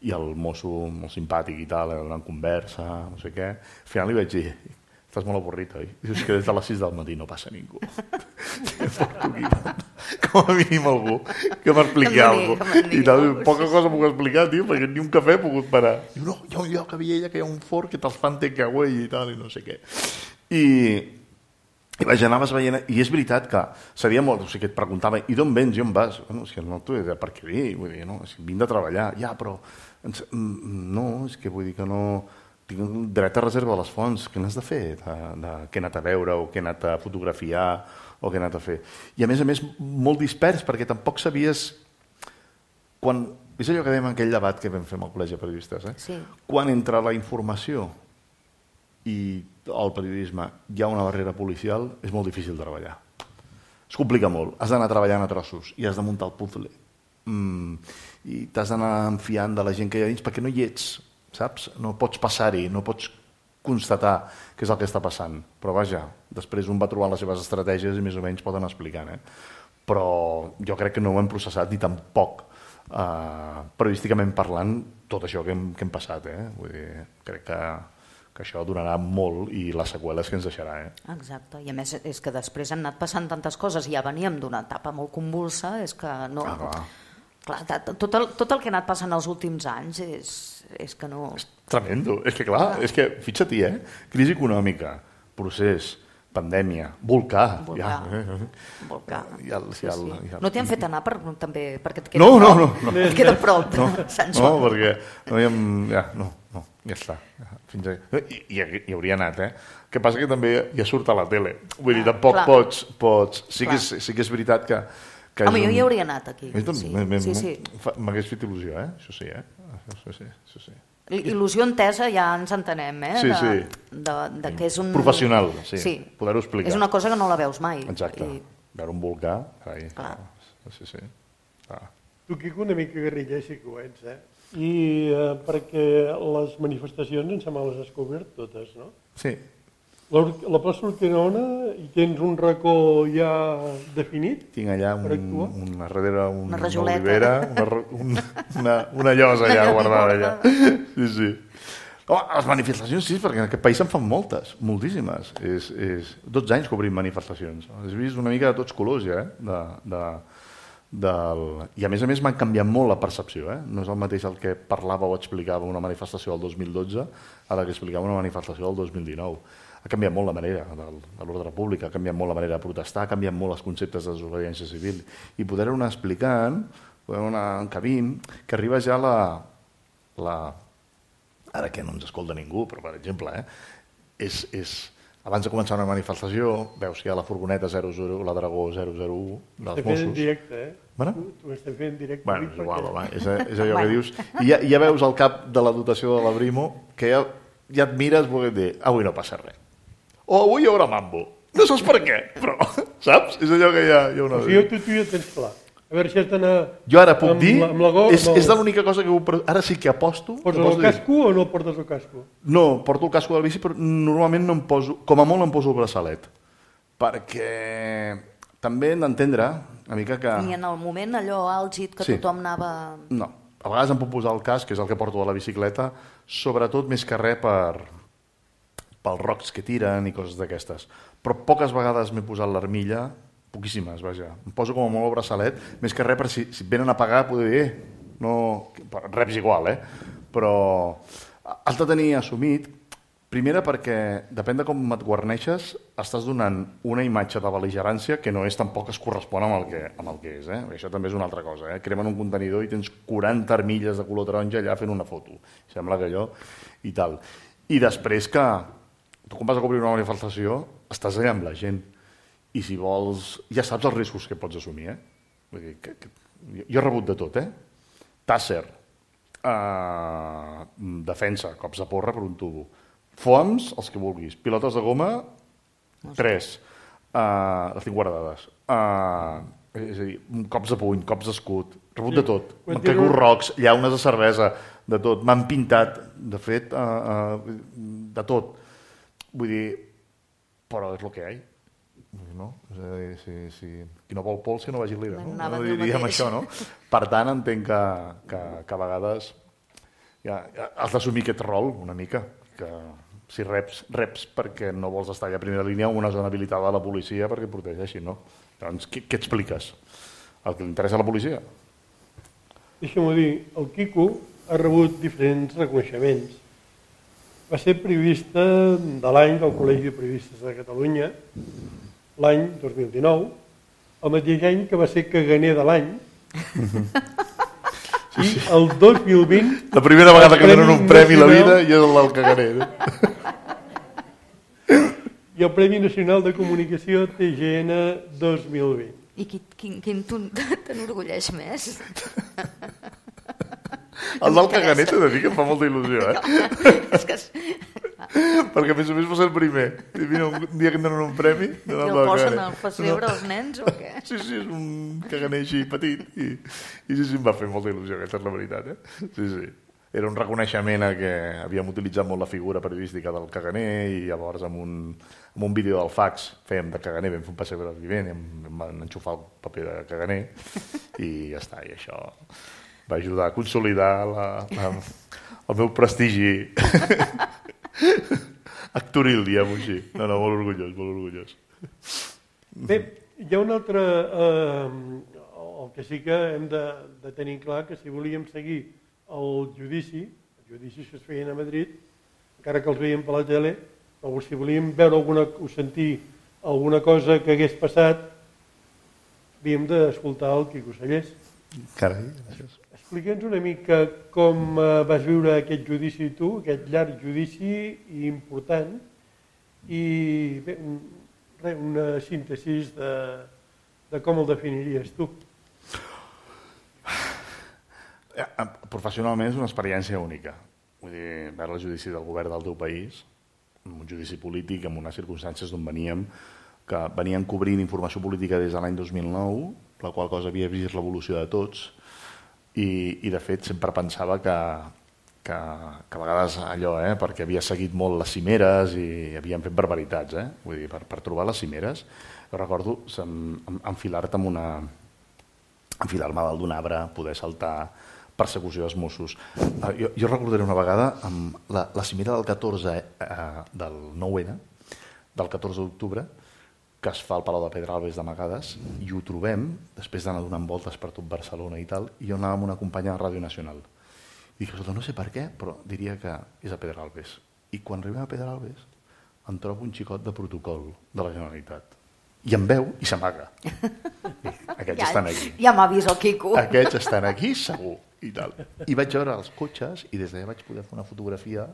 i el mosso molt simpàtic i tal, donant conversa, no sé què. Al final li vaig dir, estàs molt avorrit, oi? Dius que des de les sis del matí no passa ningú. Com a mínim algú que m'expliqui Que em alguna digui, cosa. que me'n digui I tal, alguna poca cosa, cosa puc explicar, tio, perquè ni un cafè he pogut parar. Diu, no, hi ha un lloc a Viella que hi ha un forn que te'ls fan takeaway i tal, i no sé què. I, i vaig anar veient, i és veritat que sabia molt, o sigui, que et preguntava, i d'on vens i on vas? Bueno, és que no t'ho he de per què dir, vull dir, no, és que vinc de treballar, ja, però ens, no, és que vull dir que no... Tinc un dret a reserva de les fonts, què n'has de fer? De, de, què he anat a veure, o què he anat a fotografiar, o què he anat a fer? I a més a més, molt dispers, perquè tampoc sabies... Quan... És allò que dèiem en aquell debat que vam fer amb el col·legi de periodistes, eh? Sí. Quan entre la informació i el periodisme hi ha una barrera policial, és molt difícil de treballar. Es complica molt. Has d'anar treballant a trossos i has de muntar el puzzle. Mm, I t'has d'anar enfiant de la gent que hi ha dins perquè no hi ets, saps? No pots passar-hi, no pots constatar què és el que està passant. Però vaja, després un va trobant les seves estratègies i més o menys poden explicar, eh? Però jo crec que no ho hem processat ni tampoc, eh, periodísticament parlant, tot això que hem, que hem passat, eh? Vull dir, crec que, que això durarà molt i les seqüeles que ens deixarà, eh? Exacte, i a més és que després han anat passant tantes coses i ja veníem d'una etapa molt convulsa, és que no... Ah, clar. Clar, tot el, tot el que ha anat passant els últims anys és, és que no... Tremendo. És que clar, és que, fixa't-hi, eh? Crisi econòmica, procés, pandèmia, volcà. Volcà. Ja. Volcà. I el, Sí, i el, sí. i el... No t'hi han fet anar per, també, perquè et queda No, no, prop. no, no. Et queda prop de No, Sant no, Joan. perquè no hi hem... Ja, no, no, ja està. Fins a... I, i, hi hauria anat, eh? El que passa que també ja surt a la tele. Vull dir, Ah, tampoc clar. pots... pots... Sí, que Clar. és, sí que és veritat que... que Home, és jo un- hi hauria anat aquí. Sí, Sí, sí, sí, sí. M'hagués fet il·lusió, eh? Això sí, eh? Això sí, això sí. Il·lusió entesa ja ens entenem, eh? Sí, de, sí. De, de que és un... Professional, sí. sí. Poder-ho explicar. És una cosa que no la veus mai. Exacte. I... Veure un volcà, carai. Clar. Sí, sí. Ah. Tu, Quico, una mica guerriller sí que ho ets, eh? I eh, perquè les manifestacions em sembla les has cobert totes, no? Sí. La plaça Urquinaona, hi tens un racó ja definit? Tinc allà per un, actuar? una, darrere un, Una una rajoleta. olivera, una, una, una, una llosa allà guardada allà. Sí, sí. Home, les manifestacions sí, perquè en aquest país se'n fan moltes, moltíssimes. És, és dotze anys que obrim manifestacions. Has vist una mica de tots colors ja, eh? De, de, del... I a més a més m'han canviat molt la percepció. Eh? No és el mateix el que parlava o explicava una manifestació del dos mil dotze a la que explicava una manifestació del dos mil dinou. Ha canviat molt la manera de l'ordre públic, ha canviat molt la manera de protestar, ha canviat molt els conceptes de desobediència civil. I poder-ho anar explicant, poder-ho anar encabint, que arriba ja la, la... Ara que no ens escolta ningú, però per exemple, eh, és, és, abans de començar una manifestació, veus que hi ha la furgoneta zero zero, la Dragó zero zero u dels Estem fent en Mossos. directe, eh? Bueno? Tu, tu estem fent en directe. Bueno, avui és igual, perquè- home, és, és allò que dius. I ja, ja veus el cap de la dotació de la Brimo, que ja, ja et mires volent dir, avui no passa res. O avui hi haurà mambo. No saps per què, però, saps? És allò que hi ha, hi ha una... O sigui, tu, tu ja tens clar. A veure si has d'anar... Jo ara puc amb dir, la- amb la go- és, amb el- és l'única cosa que... Ho, ara sí que aposto... que Poses poso el dir- casco o no portes el casco? No, porto el casco del bici, però normalment no em poso... Com a molt em poso el braçalet. Perquè també hem d'entendre una mica que... Ni en el moment allò àlgid que Sí. tothom anava... No, a vegades em puc posar el casc, que és el que porto a la bicicleta, sobretot més que res per, pels rocs que tiren i coses d'aquestes. Però poques vegades m'he posat l'armilla, poquíssimes, vaja. Em poso com a molt el braçalet, més que res per si, si et venen a pagar poder dir, eh, no... reps igual, eh? Però has de tenir assumit, primera perquè, depèn de com et guarneixes, estàs donant una imatge de bel·ligerància que no és tampoc es correspon amb el que, amb el que és. Eh? Això també és una altra cosa. Eh? Cremen un contenidor i tens quaranta armilles de color taronja allà fent una foto. Sembla que allò i tal. I després que tu quan vas a cobrir una manifestació estàs allà amb la gent i si vols, ja saps els riscos que pots assumir. Eh? Vull dir, que, que, jo he rebut de tot. Eh? Tàsser, eh, defensa, cops de porra per un tubo, foams, els que vulguis, pilotes de goma, tres, uh, les tinc guardades, uh, és a dir, cops de puny, cops d'escut, rebut de tot, m'han caigut rocs, llaunes de cervesa, de tot, m'han pintat, de fet, uh, uh, de tot. Vull dir, però és el que hi ha. No? És a dir, si, si, qui no vol pols, que no vagi a l'ira. No? Anava a No dir el diríem mateix. això, no? Per tant, entenc que, que, que a vegades ja, ja has d'assumir aquest rol una mica, que si reps, reps perquè no vols estar allà a primera línia o una zona habilitada de la policia perquè et protegeixi, no? Doncs què, què expliques? El que li interessa a la policia? Deixa'm-ho dir, el Quico ha rebut diferents reconeixements. Va ser periodista de l'any del Col·legi de Periodistes de Catalunya, l'any dos mil dinou, el mateix any que va ser caganer de l'any, i el dos mil vint... La primera vegada que donen un premi a la vida nacional- i és el del caganer. Eh? i el Premi Nacional de Comunicació T G N dos mil vint. I qui, quin, quin t'enorgulleix més? El del caganer t'he de dir que em fa molta il·lusió, eh? És que... Perquè a més a més va ser el primer. I mira, un dia que em donen un premi... I el posen al pessebre als nens o què? Sí, sí, és un caganer així petit. I, i sí, sí, em va fer molta il·lusió, aquesta és la veritat. Eh? Sí, sí. Era un reconeixement a que havíem utilitzat molt la figura periodística del caganer i llavors amb un, amb un vídeo del fax fèiem de caganer, vam fer un pessebre vivent i em, em van enxufar el paper de caganer i ja està, i això va ajudar a consolidar la, la, el meu prestigi actoril, diguem-ho així. No, no, molt orgullós, molt orgullós. Bé, hi ha un altre... Eh, el que sí que hem de, de tenir clar que si volíem seguir el judici, els judicis que es feien a Madrid, encara que els veiem per la tele, però si volíem veure alguna, o sentir alguna cosa que hagués passat, havíem d'escoltar el Quico Sallés. Carai, gràcies. Explica'ns una mica com eh, vas viure aquest judici tu, aquest llarg judici i important, i bé, un, res, una síntesi de, de com el definiries tu. Professionalment és una experiència única. Vull dir, veure el judici del govern del teu país, un judici polític, amb unes circumstàncies d'on veníem, que venien cobrint informació política des de l'any dos mil nou, la qual cosa havia vist l'evolució de tots, i, i de fet sempre pensava que, que, que a vegades allò, eh, perquè havia seguit molt les cimeres i havien fet barbaritats, eh? Vull dir, per, per trobar les cimeres, jo recordo enfilar-te amb una... enfilar-me dalt d'un arbre, poder saltar, persecució dels Mossos. Uh, jo, jo recordaré una vegada amb la, la cimera del catorze, eh, del nou ene, del catorze d'octubre, que es fa al Palau de Pedralbes d'amagades, i ho trobem, després d'anar donant voltes per tot Barcelona i tal, i jo anava amb una companya de Ràdio Nacional. I dic, no sé per què, però diria que és a Pedralbes. I quan arribem a Pedralbes, em trobo un xicot de protocol de la Generalitat. I em veu i s'amaga. Aquests ja, estan aquí. Ja m'ha vist el Quico. Aquests estan aquí, segur. I, tal. I vaig veure els cotxes i des d'allà vaig poder fer una fotografia.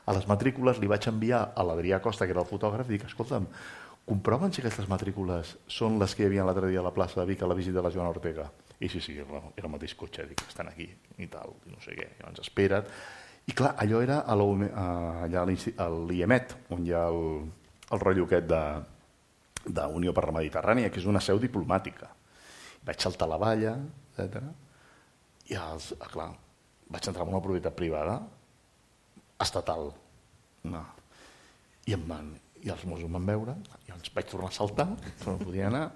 A les matrícules li vaig enviar a l'Adrià Costa, que era el fotògraf, i dic, escolta'm, comproven si aquestes matrícules són les que hi havia l'altre dia a la plaça de Vic a la visita de la Joana Ortega? I sí, sí, era el mateix cotxe, dic, estan aquí i tal, i no sé què, i ens espera't. I clar, allò era a l'I E M E T, on hi ha el, el rotllo aquest de d'Unió per la Mediterrània, que és una seu diplomàtica. Vaig saltar la valla, etcètera. I els, clar, vaig entrar en una propietat privada estatal. No. I, em van, I els Mossos em van veure, i ens vaig tornar a saltar, no podia anar,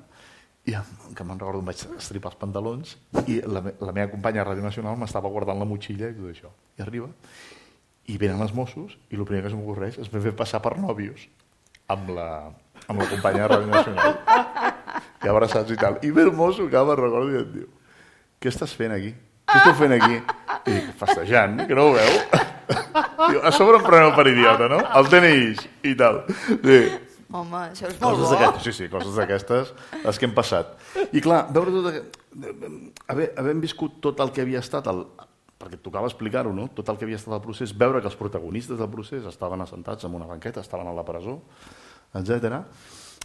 i que me'n recordo em vaig estripar els pantalons, i la, la meva companya a Ràdio Nacional m'estava guardant la motxilla i tot això. I arriba, i venen els Mossos, i el primer que s'm'ocorreix és fer passar per nòvios amb la, amb la companya de Ràdio Nacional. I abraçats i tal. I ve el mosso que me'n recordo i et diu, què estàs fent aquí? Què esteu fent aquí? I dic, festejant, que no ho veu? Diu, a sobre em preneu per idiota, no? El tenis i tal. Sí. Home, això és molt Coses bo. Sí, sí, coses d'aquestes, les que hem passat. I clar, veure tot aquest... Haver, havent viscut tot el que havia estat, el... perquè et tocava explicar-ho, no? Tot el que havia estat el procés, veure que els protagonistes del procés estaven assentats en una banqueta, estaven a la presó, etcètera.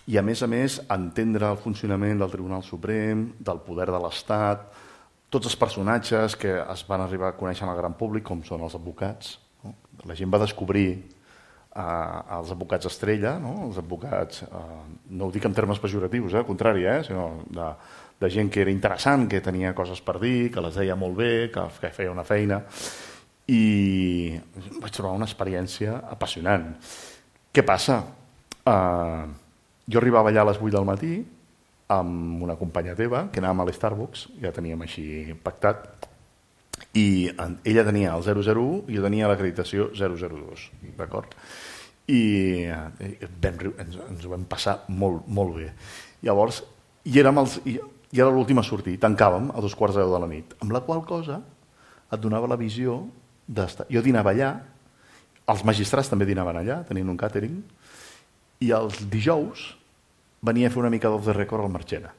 I a més a més, entendre el funcionament del Tribunal Suprem, del poder de l'Estat, tots els personatges que es van arribar a conèixer en el gran públic, com són els advocats. No? La gent va descobrir eh, els advocats estrella, no? Els advocats, eh, no ho dic en termes pejoratius, eh? Al contrari, eh? Sinó de, de gent que era interessant, que tenia coses per dir, que les deia molt bé, que, que feia una feina, i vaig trobar una experiència apassionant. Què passa? Uh, jo arribava allà a les vuit del matí amb una companya teva, que anàvem a l'Starbucks, ja teníem així pactat, i ella tenia el zero zero u i jo tenia l'acreditació zero zero dos, d'acord? I vam, ens, ens ho vam passar molt, molt bé. Llavors, i érem els, i, i era l'últim a sortir, tancàvem a dos quarts de deu de la nit, amb la qual cosa et donava la visió d'estar... Jo dinava allà, els magistrats també dinaven allà, tenien un càtering, i els dijous venia a fer una mica d'off the record al Marchena.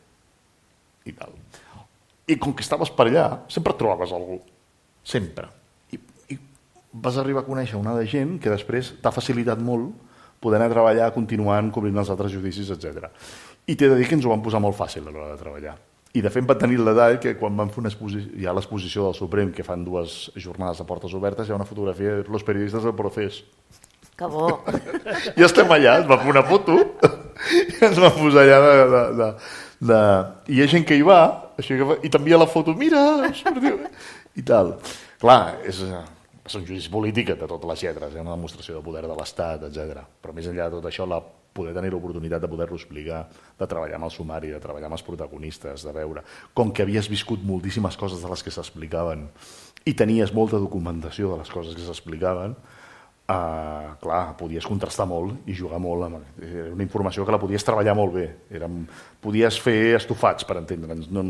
I tal. I com que estaves per allà, sempre trobaves algú. Sempre. I, i vas arribar a conèixer una de gent que després t'ha facilitat molt poder anar a treballar continuant, cobrint els altres judicis, etcètera. I t'he de dir que ens ho van posar molt fàcil a l'hora de treballar. I de fet va tenir el detall que quan van fer una exposició, hi ha l'exposició del Suprem, que fan dues jornades de portes obertes, hi ha una fotografia de los periodistes del procés. Que bo. I estem allà, es va fer una foto i ens va posar allà de... de, de, de... I hi ha gent que hi va, així que va i t'envia la foto, mira, i tal. Clar, és, és un judici polític de totes les lletres, és una demostració de poder de l'Estat, etcètera. Però més enllà de tot això, la poder tenir l'oportunitat de poder-lo explicar, de treballar amb el sumari, de treballar amb els protagonistes, de veure com que havies viscut moltíssimes coses de les que s'explicaven i tenies molta documentació de les coses que s'explicaven, Uh, clar, podies contrastar molt i jugar molt amb... Era una informació que la podies treballar molt bé. Érem... Podies fer estofats, per entendre'ns. No...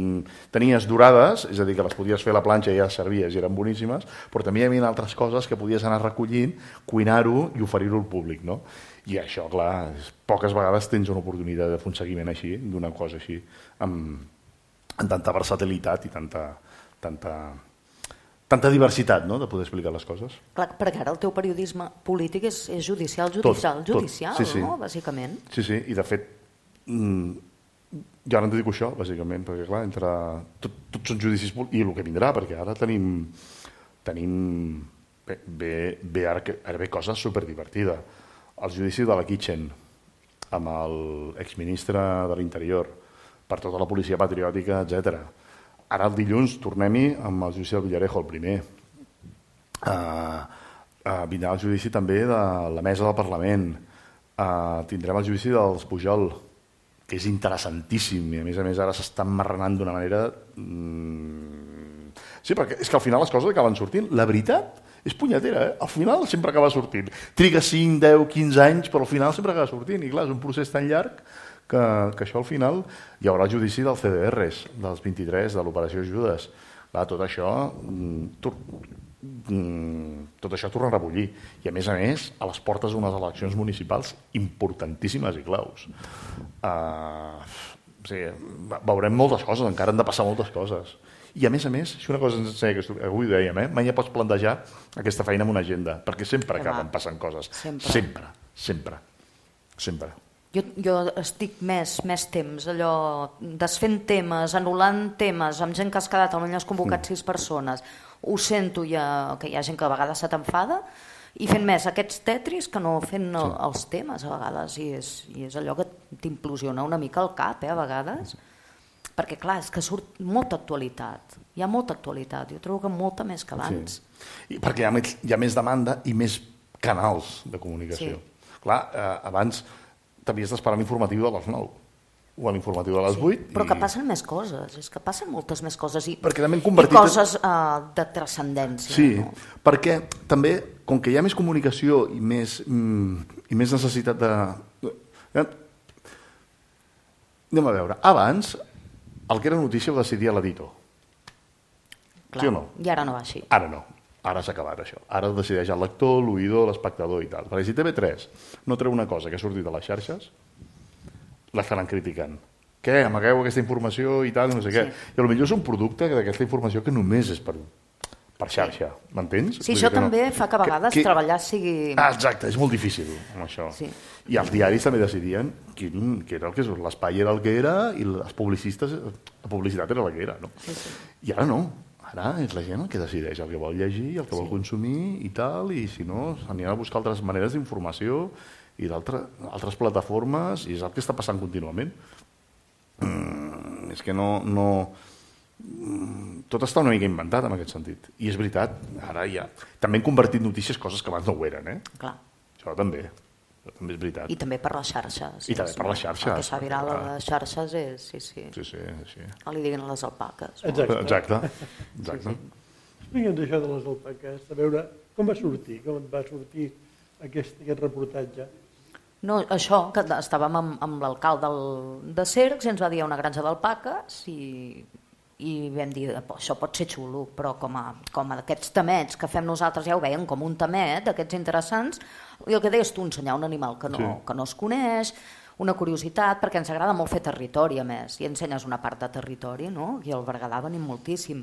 Tenies dorades, és a dir, que les podies fer a la planxa i ja servies i eren boníssimes, però també hi havia altres coses que podies anar recollint, cuinar-ho i oferir-ho al públic, no? I això, clar, poques vegades tens una oportunitat de fer un seguiment així, d'una cosa així, amb, amb tanta versatilitat i tanta... tanta tanta diversitat, no?, de poder explicar les coses. Clar, perquè ara el teu periodisme polític és, és judicial, judicial, tot, judicial, tot. Sí, sí. No?, bàsicament. Sí, sí, i de fet, mmm, ja no et dic això, bàsicament, perquè clar, entre... Tot, tots són judicis polítics, i el que vindrà, perquè ara tenim... tenim bé, bé, bé ara, ara ve coses superdivertida. El judici de la Kitchen, amb l'exministre de l'Interior, per tota la policia patriòtica, etcètera. Ara el dilluns tornem-hi amb el judici del Villarejo, el primer. Uh, uh, vindrà el judici també de la mesa del Parlament, uh, tindrem el judici dels Pujol, que és interessantíssim i a més a més ara s'estan marranant d'una manera... Mm... Sí, perquè és que al final les coses acaben sortint. La veritat és punyetera, eh? Al final sempre acaba sortint. Triga cinc, deu, quinze anys, però al final sempre acaba sortint. I clar, és un procés tan llarg que, que això al final hi haurà el judici dels C D Rs, dels vint-i-tres, de l'operació Judes. Clar, tot això... Mm, tot això torna a rebullir i a més a més a les portes d'unes eleccions municipals importantíssimes i claus. Uh, o sigui, veurem moltes coses, encara han de passar moltes coses i a més a més, si una cosa que avui dèiem, eh? mai ja pots plantejar aquesta feina amb una agenda, perquè sempre acaben passant coses, sempre, sempre, sempre, sempre. Jo, jo estic més, més temps allò desfent temes, anul·lant temes amb gent que has quedat, potser has convocat mm. sis persones, ho sento ja, que hi ha gent que a vegades se t'enfada i fent més aquests tetris que no fent sí. els temes a vegades i és, i és allò que t'implosiona una mica el cap eh, a vegades perquè clar, és que surt molta actualitat hi ha molta actualitat, jo trobo que molta més que abans sí. I perquè hi ha, més, hi ha més demanda i més canals de comunicació sí. Clar, eh, abans t'havies d'esperar l'informatiu de les nou o a l'informatiu de les vuit. Sí, però i... que passen més coses, és que passen moltes més coses i, convertit... i coses uh, de transcendència. Sí, no? perquè també, com que hi ha més comunicació i més, mm, i més necessitat de... Eh? Anem a veure, abans el que era notícia ho decidia l'editor. Sí o no? I ara no va així. Ara no. Ara s'ha acabat això. Ara ho decideix el lector, l'oïdor, l'espectador i tal. Perquè si T V tres no treu una cosa que ha sortit a les xarxes, l'estaran criticant. Què? Amagueu aquesta informació i tal, no sé sí. què. I potser és un producte d'aquesta informació que només és per, per xarxa, m'entens? Sí, això també no... fa que a vegades que, que... treballar sigui... Ah, exacte, és molt difícil amb això. Sí. I els diaris també decidien quin, que era el que és, l'espai era el que era i les publicistes, la publicitat era la que era. No? Sí, sí. I ara no. Ara és la gent el que decideix el que vol llegir, el que sí. vol consumir i tal, i si no, s'aniran a buscar altres maneres d'informació i d'altres plataformes, i és el que està passant contínuament. Mm, és que no, no... Tot està una mica inventat en aquest sentit. I és veritat, ara ja... També han convertit notícies coses que abans no ho eren, eh? Clar. Això també. Això també és veritat. I també per les xarxes. I també per les xarxes. El que s'ha viral a les xarxes és... Sí, sí. Sí, sí, sí. No li diguin a les alpaques. Exacte. Exacte. Exacte. Sí, sí. Explica'ns això de les alpaques, a veure com va sortir, com et va sortir aquest, aquest reportatge. No, això, que estàvem amb, amb l'alcalde de Cercs i ens va dir una granja d'alpaques i, i vam dir, això pot ser xulo, però com a, com a aquests tamets que fem nosaltres ja ho veiem com un tamet, d'aquests interessants, i el que deies tu, ensenyar un animal que no, sí. que no es coneix, una curiositat, perquè ens agrada molt fer territori a més, i ensenyes una part de territori, no? I al Berguedà venim moltíssim.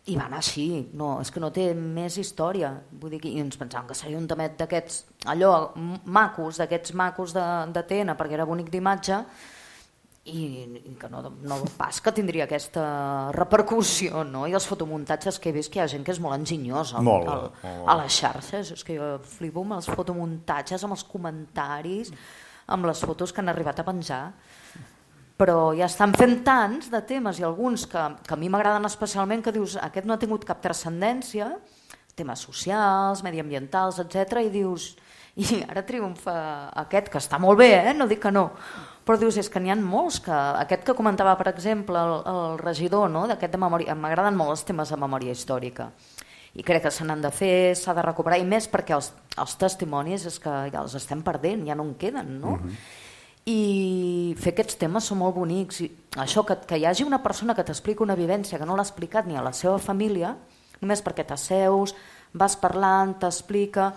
I va anar així, no, és que no té més història. Vull dir, i ens pensàvem que seria un tamet d'aquests, allò, macos, d'aquests macos de, de Tena, perquè era bonic d'imatge, i, i que no, no pas que tindria aquesta repercussió, no? I els fotomuntatges que he vist, que hi ha gent que és molt enginyosa molt, al, molt. a les xarxes, és que jo flipo amb els fotomuntatges, amb els comentaris, amb les fotos que han arribat a penjar. Però ja estan fent tants de temes i alguns que, que a mi m'agraden especialment, que dius, aquest no ha tingut cap transcendència, temes socials, mediambientals, etcètera, i dius, i ara triomfa aquest, que està molt bé, eh? No dic que no, però dius, és que n'hi ha molts, que aquest que comentava, per exemple, el, el regidor, no? D'aquest de memòria, m'agraden molt els temes de memòria històrica, i crec que se n'han de fer, s'ha de recuperar, i més perquè els, els testimonis és que ja els estem perdent, ja no en queden, no? Uh-huh. I fer aquests temes són molt bonics. I això, que, que hi hagi una persona que t'explica una vivència que no l'ha explicat ni a la seva família, només perquè t'asseus, vas parlant, t'explica,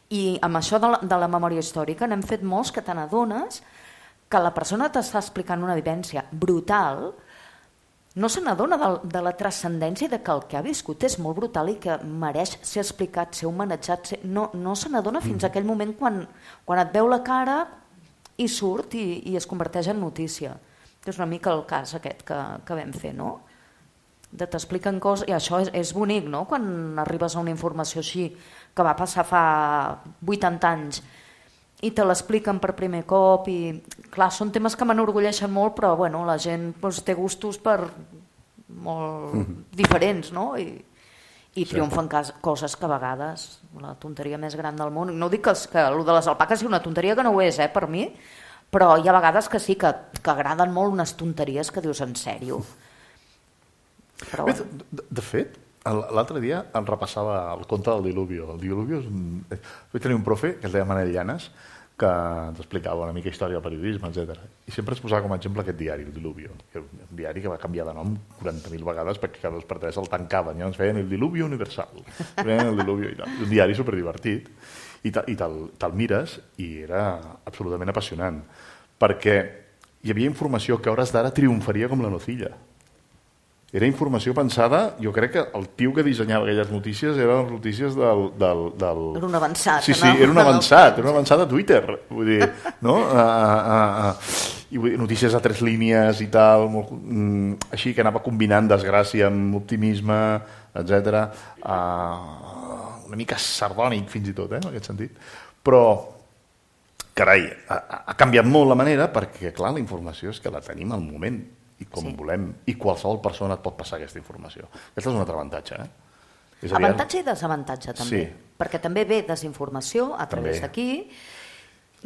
i amb això de la, de la memòria històrica n'hem fet molts que te n'adones que la persona t'està explicant una vivència brutal, no se n'adona de, de la transcendència de que el que ha viscut és molt brutal i que mereix ser explicat, ser homenatjat, ser... no, no se n'adona fins a aquell moment quan, quan et veu la cara i surt i, i es converteix en notícia. És una mica el cas aquest que, que vam fer, no? De t'expliquen coses, i això és, és bonic, no? Quan arribes a una informació així, que va passar fa vuitanta anys, i te l'expliquen per primer cop, i clar, són temes que m'enorgulleixen molt, però bueno, la gent doncs, té gustos per molt mm-hmm. diferents, no? I, I triomfen coses que a vegades, la tonteria més gran del món, no dic que, que el de les alpaques és una tonteria que no ho és, eh, per mi, però hi ha vegades que sí, que, que agraden molt unes tonteries que dius en sèrio. Però, bueno. de, de fet, l'altre dia em repassava el conte del Diluvio. El Diluvio és un... Vaig tenir un profe que es deia Manel Llanes, que ens explicava una mica història del periodisme, etcètera. I sempre es posava com a exemple aquest diari, el Diluvio. Un diari que va canviar de nom quaranta mil vegades perquè cada dos per tres el tancaven. Ja ens feien el Diluvio Universal. Feien el Diluvio i tal. Un diari superdivertit. I te'l te, te mires i era absolutament apassionant. Perquè hi havia informació que a hores d'ara triomfaria com la nocilla. Era informació pensada, jo crec que el tio que dissenyava aquelles notícies eren les notícies del... del, del... Era un avançat, sí, sí, no? Era un avançat, era un avançat a Twitter, vull dir, no? Uh, uh, uh, I vull dir, notícies a tres línies i tal, molt, mm, així que anava combinant desgràcia amb optimisme, etcètera. Uh, una mica sardònic fins i tot, eh, en aquest sentit. Però, carai, ha, ha canviat molt la manera perquè, clar, la informació és que la tenim al moment i com sí. volem, i qualsevol persona et pot passar aquesta informació. Aquest és un altre avantatge. Eh? És avantatge i desavantatge, també. Sí. Perquè també ve desinformació a través d'aquí,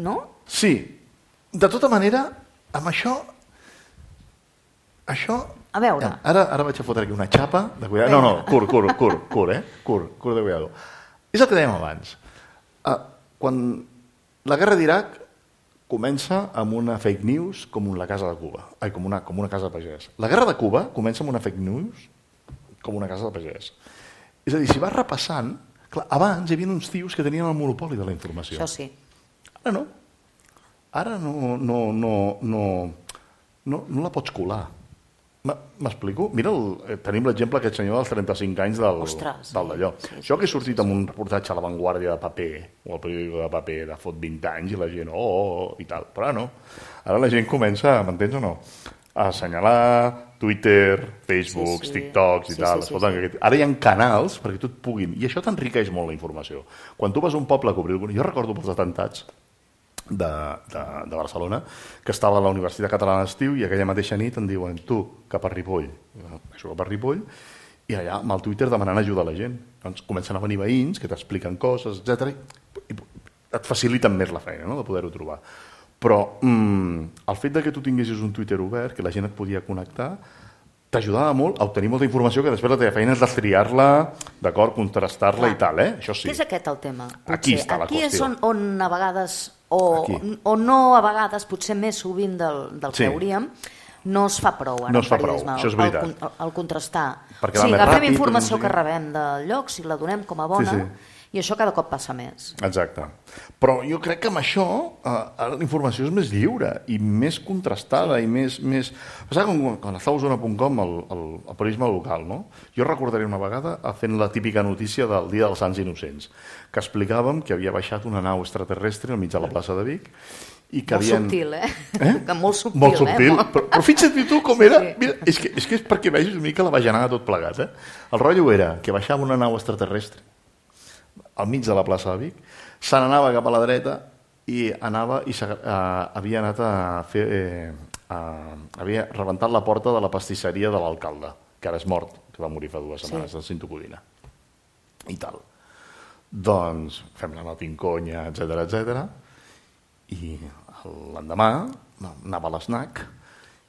no? Sí. De tota manera, amb això... Això... A veure... Ara, ara vaig a fotre aquí una xapa de cuidado. No, no, curt, curt, curt, curt, eh? Curt, curt de cuidado. És el que dèiem abans. Uh, quan la guerra d'Iraq comença amb una fake news com la casa de Cuba, ai, com una, com una casa de pagès. La guerra de Cuba comença amb una fake news com una casa de pagès. És a dir, si vas repassant, clar, abans hi havia uns tios que tenien el monopoli de la informació. Això sí. Ara no. Ara no, no, no, no, no, no la pots colar. M'explico? Mira, el, tenim l'exemple d'aquest senyor dels trenta-cinc anys del, Ostres, del d'allò. Sí, sí, Això que he sortit amb un reportatge a La Vanguardia de paper, o al periòdico de paper de fot vint anys, i la gent, oh, oh, oh, i tal. Però ara no. Ara la gent comença, m'entens o no? A assenyalar Twitter, Facebook, sí, sí. TikToks i sí, tal. Sí, sí, sí. Ara hi ha canals perquè tu et puguin... I això t'enriqueix molt la informació. Quan tu vas a un poble a cobrir... Jo recordo pels atemptats De, de, de Barcelona, que estava a la Universitat Catalana d'Estiu i aquella mateixa nit em diuen tu, cap a Ripoll. Això cap a Ripoll, i allà amb el Twitter demanant ajuda a la gent. Doncs comencen a venir veïns que t'expliquen coses, etcètera. I et faciliten més la feina, no?, de poder-ho trobar. Però mm, el fet de que tu tinguessis un Twitter obert, que la gent et podia connectar, t'ajudava molt a obtenir molta informació que després la teva feina és destriar-la, d'acord, contrastar-la i tal, eh? Això sí. Què és aquest el tema? Potser. Aquí està la Aquí qüestió. és on, on a vegades, o, o no a vegades, potser més sovint del, del sí. que hauríem, no es fa prou en no el periodisme. Prou. Això és veritat. El, el contrastar. Perquè o sigui, agafem ràpid, informació no sé que rebem del lloc, si la donem com a bona, sí, sí. i això cada cop passa més. Exacte. Però jo crec que amb això eh, la informació és més lliure i més contrastada i més... més... Passava com quan estava a Osona punt com el, el, el periodisme local, no? Jo recordaré una vegada fent la típica notícia del Dia dels Sants Innocents, que explicàvem que havia baixat una nau extraterrestre al mig de la plaça de Vic i que molt havien... subtil, eh? eh? Que molt subtil, molt subtil. eh? Però, però fixa't tu com era... Sí. Mira, és, que, és que és perquè vegis una mica la bajanada tot plegat, eh? El rotllo era que baixava una nau extraterrestre al mig de la plaça de Vic, se n'anava cap a la dreta i anava i uh, havia anat a fer... Eh, uh, havia rebentat la porta de la pastisseria de l'alcalde, que ara és mort, que va morir fa dues setmanes, sí. de Cinto Codina. I tal. Doncs fem la notinconya, etcètera, etcètera, i l'endemà anava a l'esnac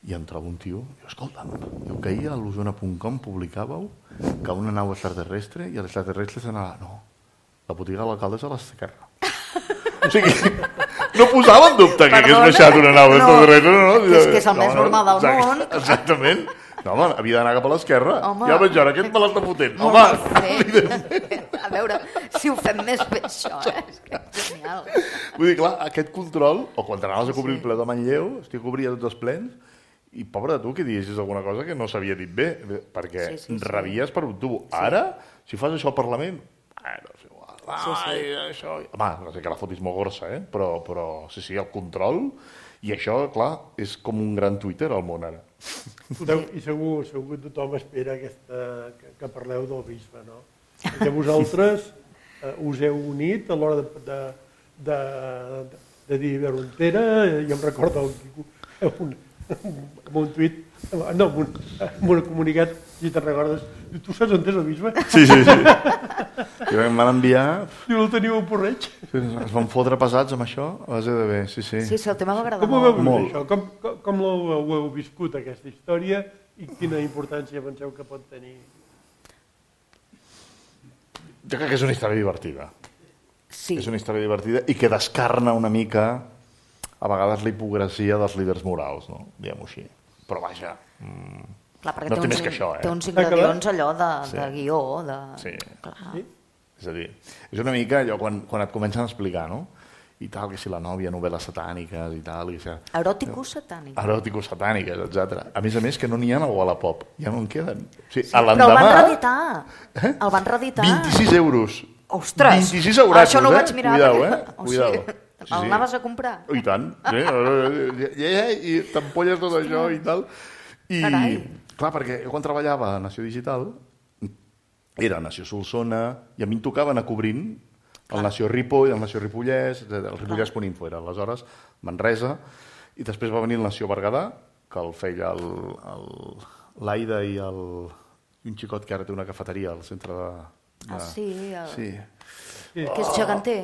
i em trobo un tio, diu, escolta'm, diu que ahir a l'Osona punt com publicàveu que una nau extraterrestre i l'extraterrestre s'anava... No, la botiga de l'alcalde és a l'esquerra. O sigui, no posava en dubte que hagués baixat una nau extraterrestre. No, no, que és que és el no, més normal del exacte, món. Exactament. No, home, havia d'anar cap a l'esquerra. Ja veig ara, aquest me l'està fotent. Home, a veure, si ho fem més bé això, eh? És que és genial. Vull dir, clar, aquest control, o quan t'anaves a cobrir sí. el ple de Manlleu, estic cobria tots els plens, i pobre de tu que diguessis alguna cosa que no s'havia dit bé, perquè sí, sí, sí. rebies per un tubo. Sí. Ara, si fas això al Parlament, ah, no sé, ai, sí, sí. això... Home, no sé que la fotis molt gorsa, eh? però, però sí, sí, el control, i això, clar, és com un gran Twitter al món ara. Podeu, I segur, segur que tothom espera aquesta, que, que parleu del bisbe, no? Perquè vosaltres eh, us heu unit a l'hora de, de, de, de, de dir Verontera, i em recordo un, amb un tuit No, en un, en un comunicat, si te'n recordes, tu saps on és el bisbe? Sí, sí, sí. I em van enviar... Diu, el teniu a Porreig. Es van fotre pesats amb això a base de bé, sí, sí. Sí, sí, el tema m'agrada Com ho molt. veu Molt. això? Com, com, com ho, ho heu viscut, aquesta història, i quina importància penseu que pot tenir? Jo crec que és una història divertida. Sí. És una història divertida i que descarna una mica, a vegades, la hipocresia dels líders morals, no? Diguem-ho així. Però vaja... Mm, Clar, perquè no té té uns, més que això, eh? té uns ingredients allò de, Sí. de guió, de... Sí. Clar. Sí? És a dir, és una mica allò quan, quan et comencen a explicar, no? I tal, que si la nòvia, novel·les satàniques i tal... I que... Eròticos satànics. Eròticos satàniques, etcètera. A més a més, que no n'hi ha al Wallapop. Ja no en queden. O sigui, Sí, a però el l'endemà... van reeditar. Eh? El van reeditar. vint-i-sis euros. Ostres! vint-i-sis eurats, Això no ho eh? vaig mirar. Cuidao, perquè- eh? O Cuidao. sigui, Sí, el sí. anaves a comprar? Oh, I tant. Sí. I, i, i t'empolles tot això i tal. I, Carai. clar, perquè jo quan treballava a Nació Digital, era a Nació Solsona, i a mi em tocava anar cobrint el Nació Ripoll, el Nació Ripollès, el Ripollès punt info era aleshores, Manresa, i després va venir el Nació Berguedà, que el feia l'Aida i, el, i un xicot que ara té una cafeteria al centre de... de... Ah, sí, el... Sí. que és geganter.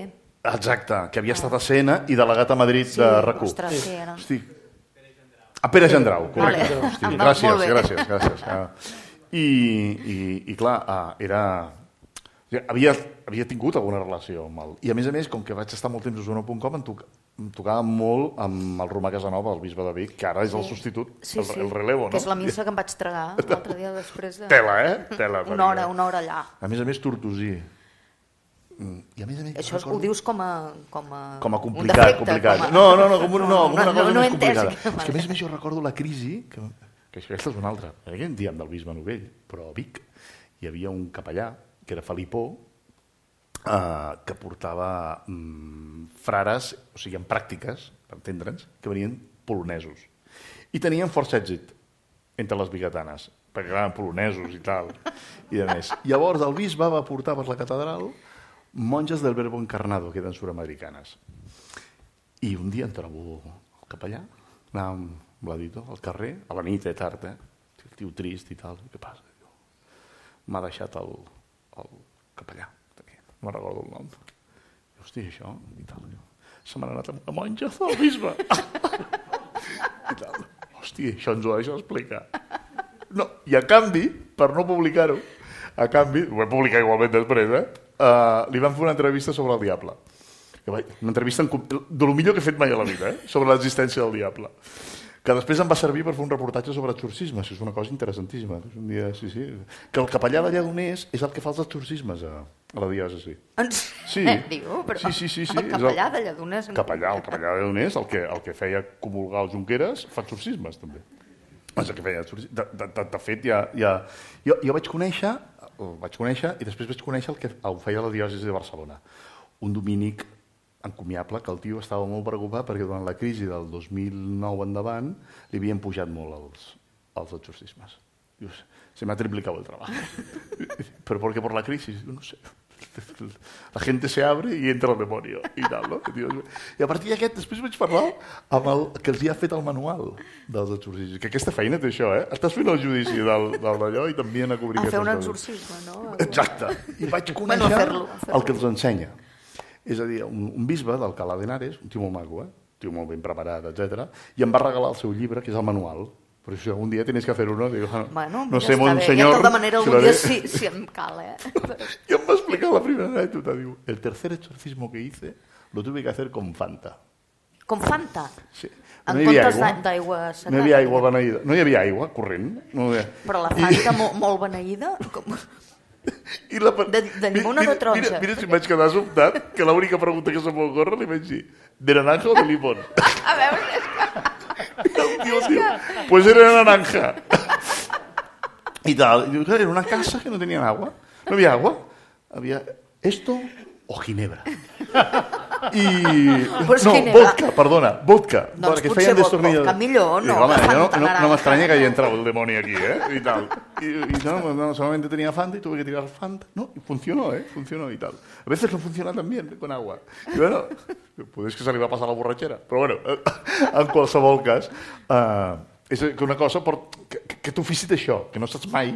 Exacte, que havia estat a Sena i delegat a Madrid Sí, de RAC u. ostres, sí, era. Hosti. A Pere Gendrau, correcte. Vale. Hosti, Molt gràcies, bé. gràcies, gràcies. Ah. I, i, i clar, ah, era... Havia, havia tingut alguna relació amb el... I a més a més, com que vaig estar molt temps a Osona punt com, em, toc, em tocava molt amb el Romà Casanova, el bisbe de Vic, que ara és el substitut, Sí, el, sí. el relevo, no? Que és la missa que em vaig tragar l'altre dia després de... Tela, eh? Tela. Una perquè- hora, una hora allà. A més a més, tortosí. Mm, I a més a més... Això recordo- ho dius com a... Com a, Com a un complicat, defecte, complicat. com a- No, no, no, com, un, no, com una no, cosa no més he entès. complicada. Vale. És que a més a més jo recordo la crisi, que, que això aquesta és una altra, perquè en diem del bisbe Novell, però a Vic hi havia un capellà, que era Felipó, eh, que portava mm, frares, o sigui, en pràctiques, per entendre'ns, que venien polonesos. I tenien força èxit entre les biguetanes, perquè eren polonesos i tal, i de més. Llavors el bisbe va portar per la catedral monges del Verbo Encarnado, que eren sud-americanes. I un dia em trobo el capellà, anàvem amb l'editor al carrer, a la nit, eh, tard, eh? El tio trist i tal. Què passa? M'ha deixat el, el capellà, no me'n recordo el nom. I, hosti, això, i tal. Se m'ha anat amb la monja del bisbe. I tal. Hosti, això ens ho deixa explicar. No, i a canvi, per no publicar-ho, a canvi, ho vam publicar igualment després, eh? Uh, li van fer una entrevista sobre el diable. Una entrevista en, de lo millor que he fet mai a la vida, eh? Sobre l'existència del diable. Que després em va servir per fer un reportatge sobre exorcismes. És una cosa interessantíssima. És un dia, sí, sí. Que el capellà de Lledoners és el que fa els exorcismes a, a la diòcesi. En Sí. sèrio? Però Sí, sí, sí, sí. el És capellà de Lledoners... Capellà, el capellà de Lledoners, el que, el que feia comulgar els Junqueres, fa exorcismes, també. És el que feia exorcismes. De, de, de, de fet, ja, ja... Jo, jo vaig conèixer, el vaig conèixer, i després vaig conèixer el que el feia la diòcesi de Barcelona. Un dominic encomiable, que el tio estava molt preocupat perquè durant la crisi del dos mil nou endavant li havien pujat molt els, els exorcismes. Dius, se me ha triplicado el trabajo. ¿Pero por qué por la crisis? No sé. La gente se abre y entra el demonio i tal, no? I a partir d'aquest després vaig parlar amb el que els hi ha fet el manual dels exorcismes, que aquesta feina té això, eh? Estàs fent el judici del, del d'allò i t'envien a cobrir A fer un aquestes coses. exorcisme, no? Exacte. I vaig conèixer Bueno, a fer-lo, a fer-lo. el que els ensenya. És a dir, un, un bisbe d'Alcalá de Henares, un tio molt maco, eh? Un tio molt ben preparat, etcètera, i em va regalar el seu llibre, que és el manual. Per això un dia tienes que hacer uno. Digo, no, Bueno, no ja sé, està mon bé. senyor... Ja de tota manera si algun lo dia haré. sí, sí em cal, eh? I em va explicar la primera anècdota, diu, el tercer exorcismo que hice lo tuve que hacer con Fanta. Com Fanta? Sí. En No hi havia comptes aigua. d'a- d'aigua secata. No hi havia aigua beneïda. No hi havia aigua corrent. No hi havia... Però la Fanta mo molt beneïda? Com... I la... De- de llimona o de taronja? Mira, mira si em vaig quedar sobtat, que l'única pregunta que se m'ocorre li vaig dir, ¿de naranja o de limón? A veure, El tío, tío, pues era naranja. Y tal. Y digo, claro, era una casa que no tenían agua. No había agua. Había esto o ginebra. I... Pues no, ginebra. vodka, perdona, vodka. Doncs perquè potser feien vodka, destornillador. vodka millor, no, Digo, home, que yo no, Fanta no, no naranja. me extraña que haya entrado el demonio aquí, ¿eh? Y tal. Y, y no, no, solamente tenía Fanta y tuve que tirar Fanta. No, y funcionó, ¿eh? Funcionó y tal. A veces no funciona tan bien con agua. Y bueno, pues que se li va passar la borratxera. Però bueno, en qualsevol cas, eh, és que una cosa, per, aquest ofici d'això, que no saps mai,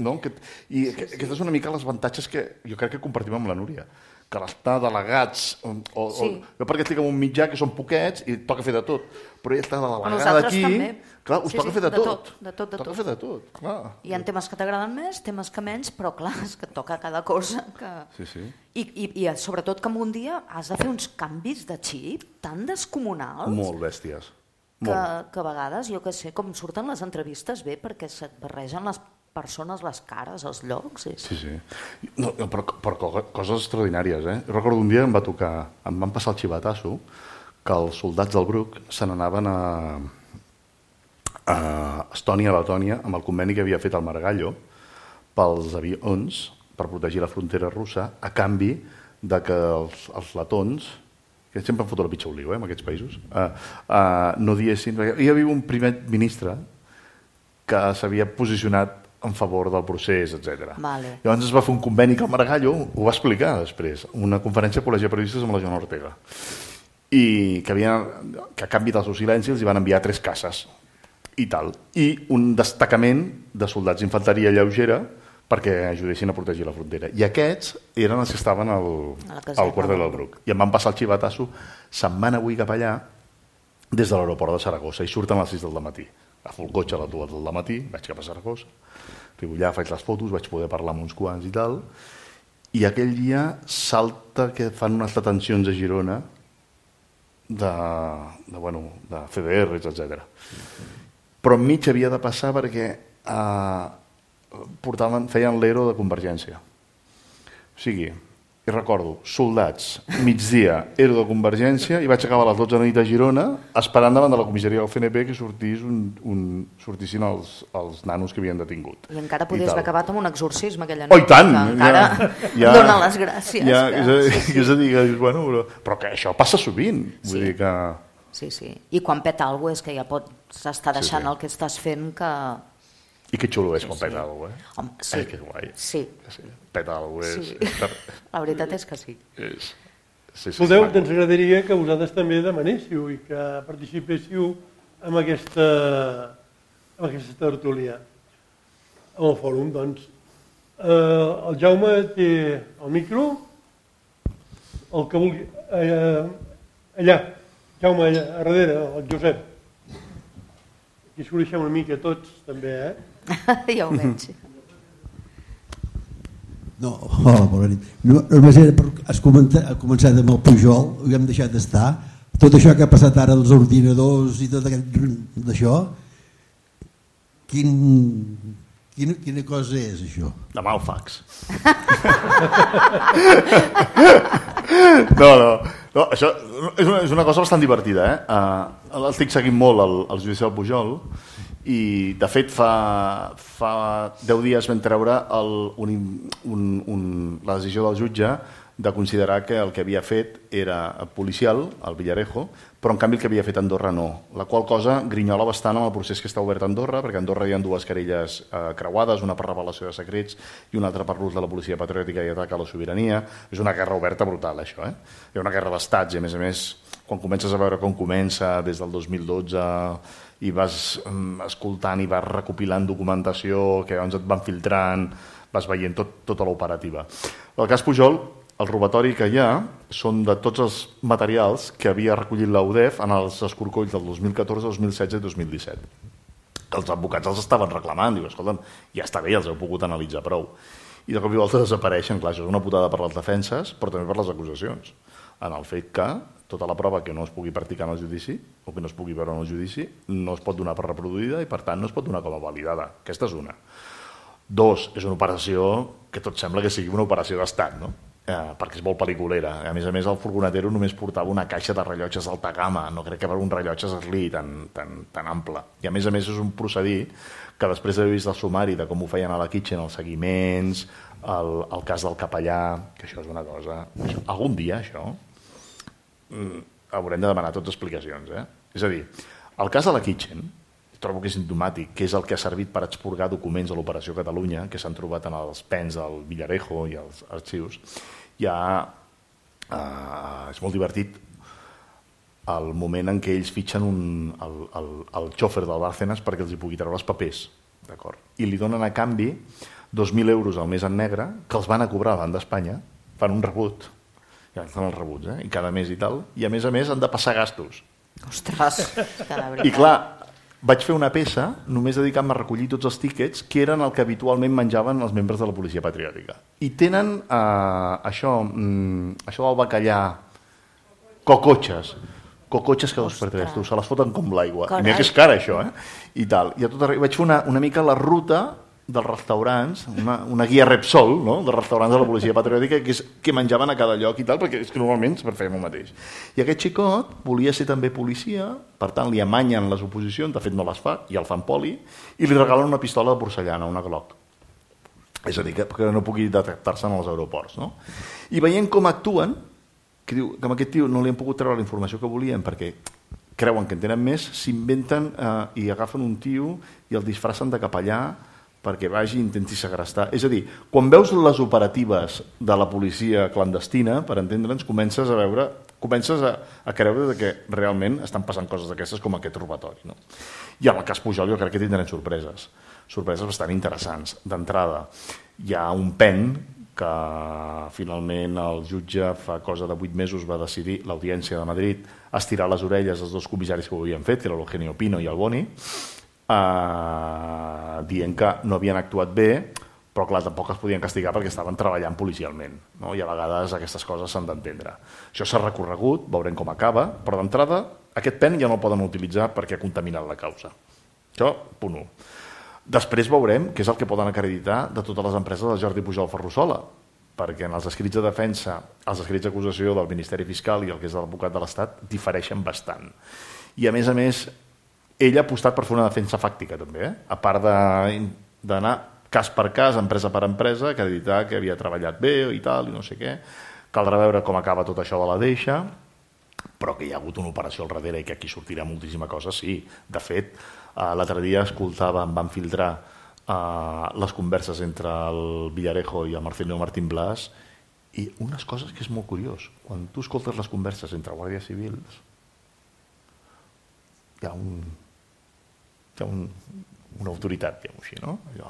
no? Que, i aquest és una mica els avantatges que jo crec que compartim amb la Núria, que l'estar delegats, o, o, sí. o, jo perquè estic en un mitjà que són poquets i toca fer de tot, però ella està delegada aquí, també. Clar, us sí, toca sí, fer de, de tot. tot. De tot, de toca tot. fer de tot, clar. Hi ha temes que t'agraden més, temes que menys, però clar, és que et toca cada cosa. Que... Sí, sí. I, i, I sobretot que en un dia has de fer uns canvis de xip tan descomunals... Molt bèsties. Que, Molt. que a vegades, jo que sé, com surten les entrevistes bé perquè se't barregen les persones, les cares, els llocs. És... Sí, sí. No, però, però coses extraordinàries, eh? Jo recordo un dia em va tocar, em van passar el xivatasso que els soldats del Bruc se n'anaven a, a Estònia, a Letònia, amb el conveni que havia fet el Margallo pels avions per protegir la frontera russa, a canvi de que els, els letons, que sempre em foto la pitxa oliu, eh, en aquests països, uh, uh, no diessin... Hi havia un primer ministre que s'havia posicionat en favor del procés, etcètera. Vale. Llavors es va fer un conveni que el Margallo ho va explicar després, una conferència al Col·legi de Periodistes amb la Joana Ortega, i que, havia, que a canvi del seu silenci els hi van enviar tres caces i tal, i un destacament de soldats d'infanteria lleugera perquè ajudessin a protegir la frontera. I aquests eren els que estaven al, al quartel del Bruc. I em van passar el xivatasso, se'n van avui cap allà des de l'aeroport de Saragossa i surten a les sis del matí. Agafo el cotxe a les dues del matí, vaig cap a Saragossa, arribo allà, faig les fotos, vaig poder parlar amb uns quants i tal, i aquell dia salta que fan unes detencions a Girona de, de, bueno, de C D Rs, etcètera. Però enmig havia de passar perquè eh, portaven, feien l'ero de Convergència. O sigui, i recordo, soldats, migdia, ero de Convergència, i vaig acabar a les dotze de la nit a Girona esperant davant de la comissaria del C N P que sortís un, un, sortissin els, els nanos que havien detingut. I encara podies haver acabat amb un exorcisme aquella nit. Oh, i tant! Que encara ja, ja, dona les gràcies. Ja, que... és, a, sí, sí. és a dir, que, bueno, però, però que això passa sovint. Vull sí. dir que... sí, sí. I quan peta alguna cosa és que ja pots estar deixant sí, sí. el que estàs fent que... I que xulo és sí, quan sí. peta alguna cosa, eh? Home, sí. Eh, que guai. Sí. sí. Peta alguna cosa. Sí. És... La veritat és que sí. És... sí, sí Escolteu, ens agradaria que vosaltres també demanéssiu i que participéssiu en aquesta, en aquesta tertúlia. Amb el fòrum, doncs. Eh, el Jaume té el micro, el que vulgui... Eh, allà, Jaume, allà, a darrere, el Josep. Aquí s'ho deixem una mica tots, també, eh? Ja ho veig. No, hola, bona nit. No, només era per... Has començat amb el Pujol, ho hem deixat d'estar. Tot això que ha passat ara dels ordinadors i tot aquest... d'això, quin... Quina, quina cosa és, això? Demà el fax. no, no, no, això és una, és una cosa bastant divertida, eh? Uh, estic seguint molt el, el judici del Pujol i, de fet, fa, fa deu dies vam treure el, un, un, un, la decisió del jutge de considerar que el que havia fet era policial, el Villarejo, però en canvi el que havia fet Andorra no. La qual cosa grinyola bastant amb el procés que està obert a Andorra, perquè a Andorra hi ha dues querelles eh, creuades, una per revelació de secrets i una altra per l'ús de la policia patriòtica i atac a la sobirania. És una guerra oberta brutal, això. Eh? Hi ha una guerra d'estats i, a més a més, quan comences a veure com comença des del dos mil dotze i vas um, escoltant i vas recopilant documentació que llavors et van filtrant, vas veient tot, tota l'operativa. El cas Pujol, el robatori que hi ha són de tots els materials que havia recollit la U D E F en els escorcolls del dos mil catorze, dos mil setze i dos mil disset. Els advocats els estaven reclamant, diuen, escolta'm, ja està bé, els heu pogut analitzar prou. I de cop i volta desapareixen, clar, això és una putada per les defenses, però també per les acusacions, en el fet que tota la prova que no es pugui practicar en el judici o que no es pugui veure en el judici no es pot donar per reproduïda i per tant no es pot donar com a validada. Aquesta és una. Dos, és una operació que tot sembla que sigui una operació d'estat, no? Eh, perquè és molt pel·liculera. A més a més, el furgonetero només portava una caixa de rellotges d'alta gamma, no crec que per un rellotge Sli tan, tan, tan ample. I a més a més és un procedir que després d'haver vist el sumari de com ho feien a la Kitchen, els seguiments, el, el cas del capellà, que això és una cosa... Això, algun dia, això, haurem de demanar totes explicacions. Eh? És a dir, el cas de la Kitchen, trobo que és simptomàtic, que és el que ha servit per expurgar documents de l'Operació Catalunya, que s'han trobat en els pens del Villarejo i els arxius. Ja eh, és molt divertit el moment en què ells fitxen un, el, el, el xòfer del Bárcenas perquè els hi pugui treure els papers D'acord. I li donen a canvi dos mil euros al mes en negre, que els van a cobrar davant d'Espanya, fan un rebut, ja fan els rebuts, eh? I cada mes i tal, i a més a més han de passar gastos. Ostres, que la veritat. I clar, vaig fer una peça només dedicant-me a recollir tots els tíquets que eren el que habitualment menjaven els membres de la policia patriòtica. I tenen eh, això, mm, això del bacallà, cocotxes, cocotxes que dos per tres, tu, se les foten com l'aigua. I mira que és cara això, eh? I tal. I a tot arreu vaig fer una, una mica la ruta dels restaurants, una, una guia Repsol, no?, dels restaurants de la policia patriòtica, que és que menjaven a cada lloc i tal, perquè és que normalment sempre fèiem el mateix. I aquest xicot volia ser també policia, per tant li amanyen les oposicions, de fet no les fa, i el fan poli, i li regalen una pistola de porcellana, una Glock. És a dir, que, que no pugui detectar-se en els aeroports, no? I veient com actuen, que diu que amb aquest tio no li han pogut treure la informació que volien perquè creuen que en tenen més, s'inventen eh, i agafen un tio i el disfracen de capellà perquè vagi i intenti segrestar. És a dir, quan veus les operatives de la policia clandestina, per entendre'ns, comences a veure, comences a, a creure que realment estan passant coses d'aquestes com aquest robatori. No? I en el cas Pujol jo crec que tindrem sorpreses, sorpreses bastant interessants. D'entrada, hi ha un pen que finalment el jutge fa cosa de vuit mesos va decidir, l'Audiència de Madrid, estirar les orelles als dos comissaris que ho havien fet, que era l'Eugenio Pino i el Boni, Uh, dient que no havien actuat bé, però clar, tampoc es podien castigar perquè estaven treballant policialment, no? I a vegades aquestes coses s'han d'entendre. Això s'ha recorregut, veurem com acaba, però d'entrada aquest pen ja no el poden utilitzar perquè ha contaminat la causa. Això, punt u. Després veurem què és el que poden acreditar de totes les empreses de Jordi Pujol Ferrusola, perquè en els escrits de defensa, els escrits d'acusació del Ministeri Fiscal i el que és l'advocat de l'Estat difereixen bastant. I a més a més, ell ha apostat per fer una defensa fàctica també, eh? A part d'anar cas per cas, empresa per empresa, acreditar que havia treballat bé i tal, i no sé què. Caldrà veure com acaba tot això de la deixa, però que hi ha hagut una operació al darrere i que aquí sortirà moltíssima cosa, sí. De fet, l'altre dia escoltava, em van filtrar uh, les converses entre el Villarejo i el Marcelino Martín Blas, i unes coses que és molt curiós. Quan tu escoltes les converses entre guàrdies civils, hi ha un... hi ha un, una autoritat, diguem-ho així, no? Allò,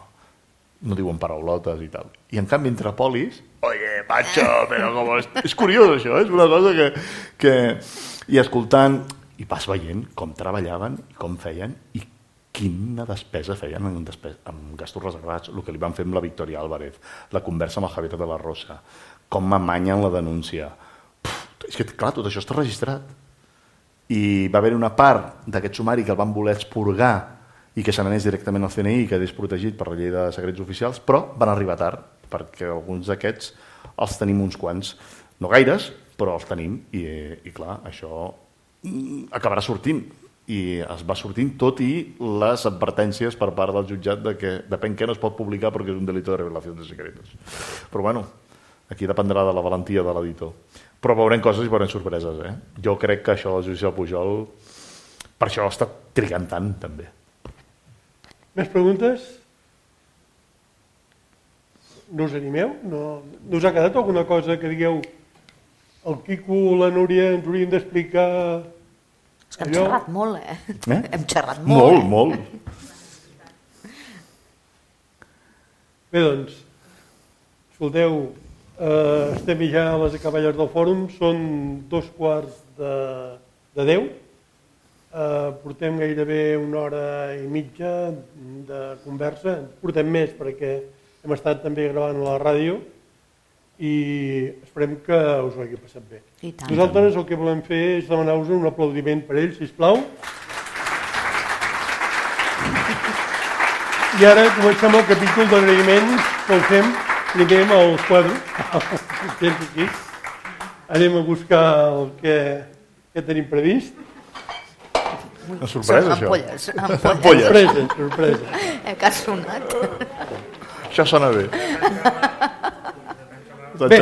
no diuen paraulotes i tal. I en canvi, entre polis, oye, macho, però com... És, és curiós això, és una cosa que, que... I escoltant, i vas veient com treballaven, i com feien, i quina despesa feien en, despesa, en gastos reservats, el que li van fer amb la Victoria Álvarez, la conversa amb el Javier de la Rosa, com m'amanyen la denúncia. Puf, és que, clar, tot això està registrat. I va haver una part d'aquest sumari que el van voler expurgar i que se n'anés directament al C N I i quedés protegit per la llei de secrets oficials, però van arribar tard, perquè alguns d'aquests els tenim uns quants. No gaires, però els tenim, i, i clar, això acabarà sortint. I es va sortint tot i les advertències per part del jutjat de que depèn què no es pot publicar perquè és un delito de revelació de secretos. Però bueno, aquí dependrà de la valentia de l'editor. Però veurem coses i veurem sorpreses. Eh? Jo crec que això del judici del Pujol, per això està trigant tant, també. Més preguntes? No us animeu? No, no us ha quedat alguna cosa que digueu el Quico, la Núria ens haurien d'explicar... És que hem allò... xerrat molt, eh? eh? Hem xerrat molt, Molt, eh? molt. Bé, doncs, escolteu... Uh, estem ja a les acaballes del fòrum, són dos quarts de, de deu, uh, portem gairebé una hora i mitja de conversa, portem més perquè hem estat també gravant a la ràdio i esperem que us ho hagi passat bé. Nosaltres el que volem fer és demanar-vos un aplaudiment per ells, sisplau. I ara comencem el capítol d'agraïments que el fem primer amb el quadre. Aquí. Anem a buscar el que, que tenim previst. Una sorpresa, això. Ampolles. Ampolles. Sorpresa, sorpresa. Eh, que ha sonat. Això sona bé. Bé,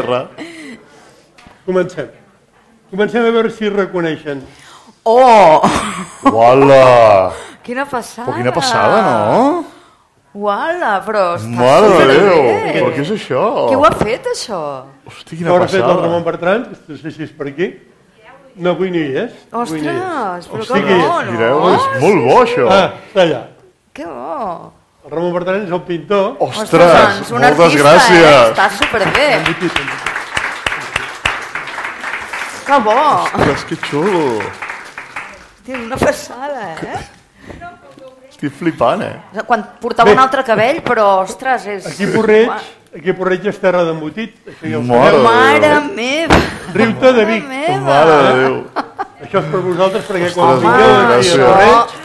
comencem. Comencem a veure si reconeixen. Oh! Uala! Quina passada! Però quina passada, no? Uala, però està Mare de Déu! bé. Però què és això? Qui ho ha fet, això? Hosti, quina Ho ha passada! fet el Ramon Bertran, no sé si és per aquí. No, avui no hi és. Ostres, Avui no hi és. però Hosti, que bo, no? Mireu, és molt bo, això. Ah, està allà. Que bo! El Ramon Bertran és el pintor. Ostres, doncs, un moltes artista, gràcies. Eh? Està superbé. Embotit, embotit. Que bo. Ostres, que xulo. Té una passada, eh? Estic flipant, eh? Quan portava Bé. un altre cabell, però, ostres, és... Aquí a Porreig, aquí a Porreig és terra d'embotit. Això ja ho Mare sabeu. Mare meva! Riu-te de Vic. Mare meva! Mare de Déu. Això és per vosaltres, perquè quan Ostres, vingueu moltes aquí a gràcies. Porreig,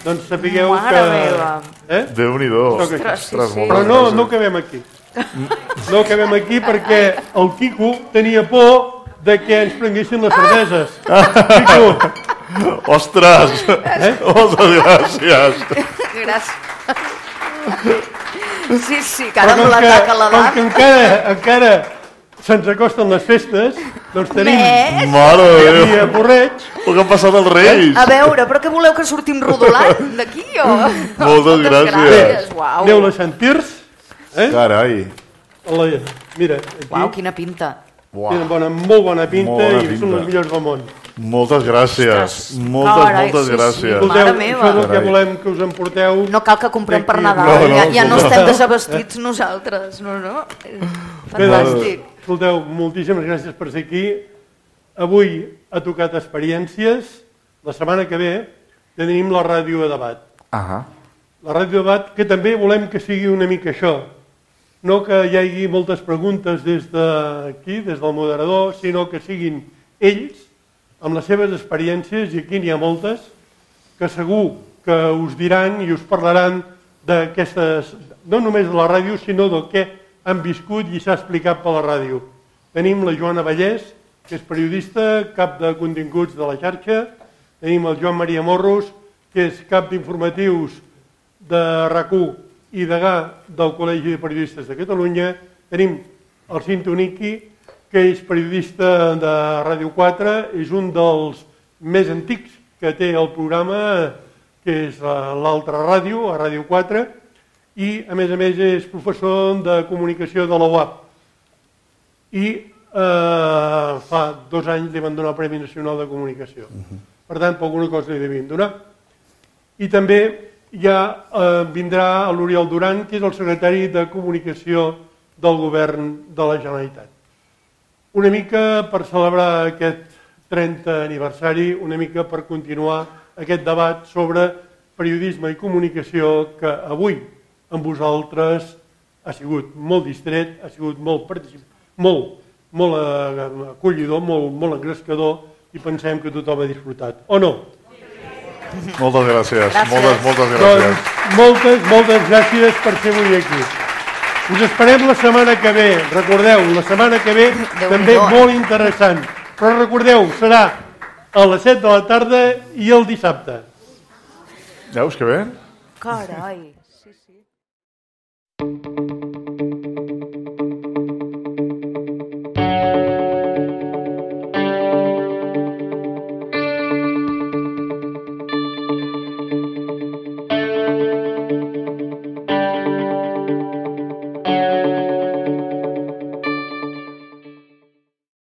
doncs sapigueu Mare que... meva. Eh? Déu-n'hi-do. Ostres, sí, sí. moltes Però no, gràcies. no acabem aquí. No acabem aquí perquè el Quico tenia por de que ens prenguessin les cerveses. Quico, Ostres, eh? moltes gràcies. Gràcies. Sí, sí, que ara Però amb com que, l'atac a com que l'edat... encara, encara se'ns acosten les festes, doncs tenim Més? Mare de aquí a Déu. Porreig, El que han passat els Reis. A veure, però què voleu que sortim rodolant d'aquí, o...? Moltes gràcies. gràcies. Uau. aneu a Santirs, eh? Carai. La, mira, aquí Uau, quina pinta. tenen bona, molt bona pinta Molt bona i pinta. són les millors del món. Moltes gràcies. Ostres, Moltes, carai, moltes sí, sí. gràcies. Mare Escolteu, meva. això és el que Carai. volem que us emporteu. No cal que comprem per Aquí, Nadal, no, no, ja, ja no escolta. estem desabastits nosaltres, no, no? Bé, doncs, Fantàstic. escolteu, moltíssimes gràcies per ser aquí. Avui ha tocat experiències. La setmana que ve tenim la ràdio a debat. Ah, La ràdio a debat que també volem que sigui una mica això. No que hi hagi moltes preguntes des d'aquí, des del moderador, sinó que siguin ells, amb les seves experiències, i aquí n'hi ha moltes, que segur que us diran i us parlaran d'aquestes, no només de la ràdio, sinó del que han viscut i s'ha explicat per la ràdio. Tenim la Joana Vallès, que és periodista, cap de continguts de la xarxa. Tenim el Joan Maria Morros, que és cap d'informatius de RAC u i degà del Col·legi de Periodistes de Catalunya. Tenim el Cinto Niqui, que és periodista de Ràdio quatre, és un dels més antics que té el programa, que és l'altra ràdio, a Ràdio quatre, i a més a més és professor de comunicació de la U A P. I eh, fa dos anys li van donar el Premi Nacional de Comunicació. Per tant, per alguna cosa li devien donar. I també ja eh, vindrà l'Oriol Duran, que és el secretari de Comunicació del Govern de la Generalitat. Una mica per celebrar aquest trentè aniversari, una mica per continuar aquest debat sobre periodisme i comunicació que avui amb vosaltres ha sigut molt distret, ha sigut molt particip... molt, molt eh, acollidor, molt, molt engrescador, i pensem que tothom ha disfrutat. O no? moltes gràcies. Gràcies. Moltes, moltes gràcies. Doncs moltes, moltes gràcies per ser avui aquí. Us esperem la setmana que ve. Recordeu, la setmana que ve també molt interessant. Però recordeu, serà a les set de la tarda i el dissabte. Veus que bé? Carai, sí, sí.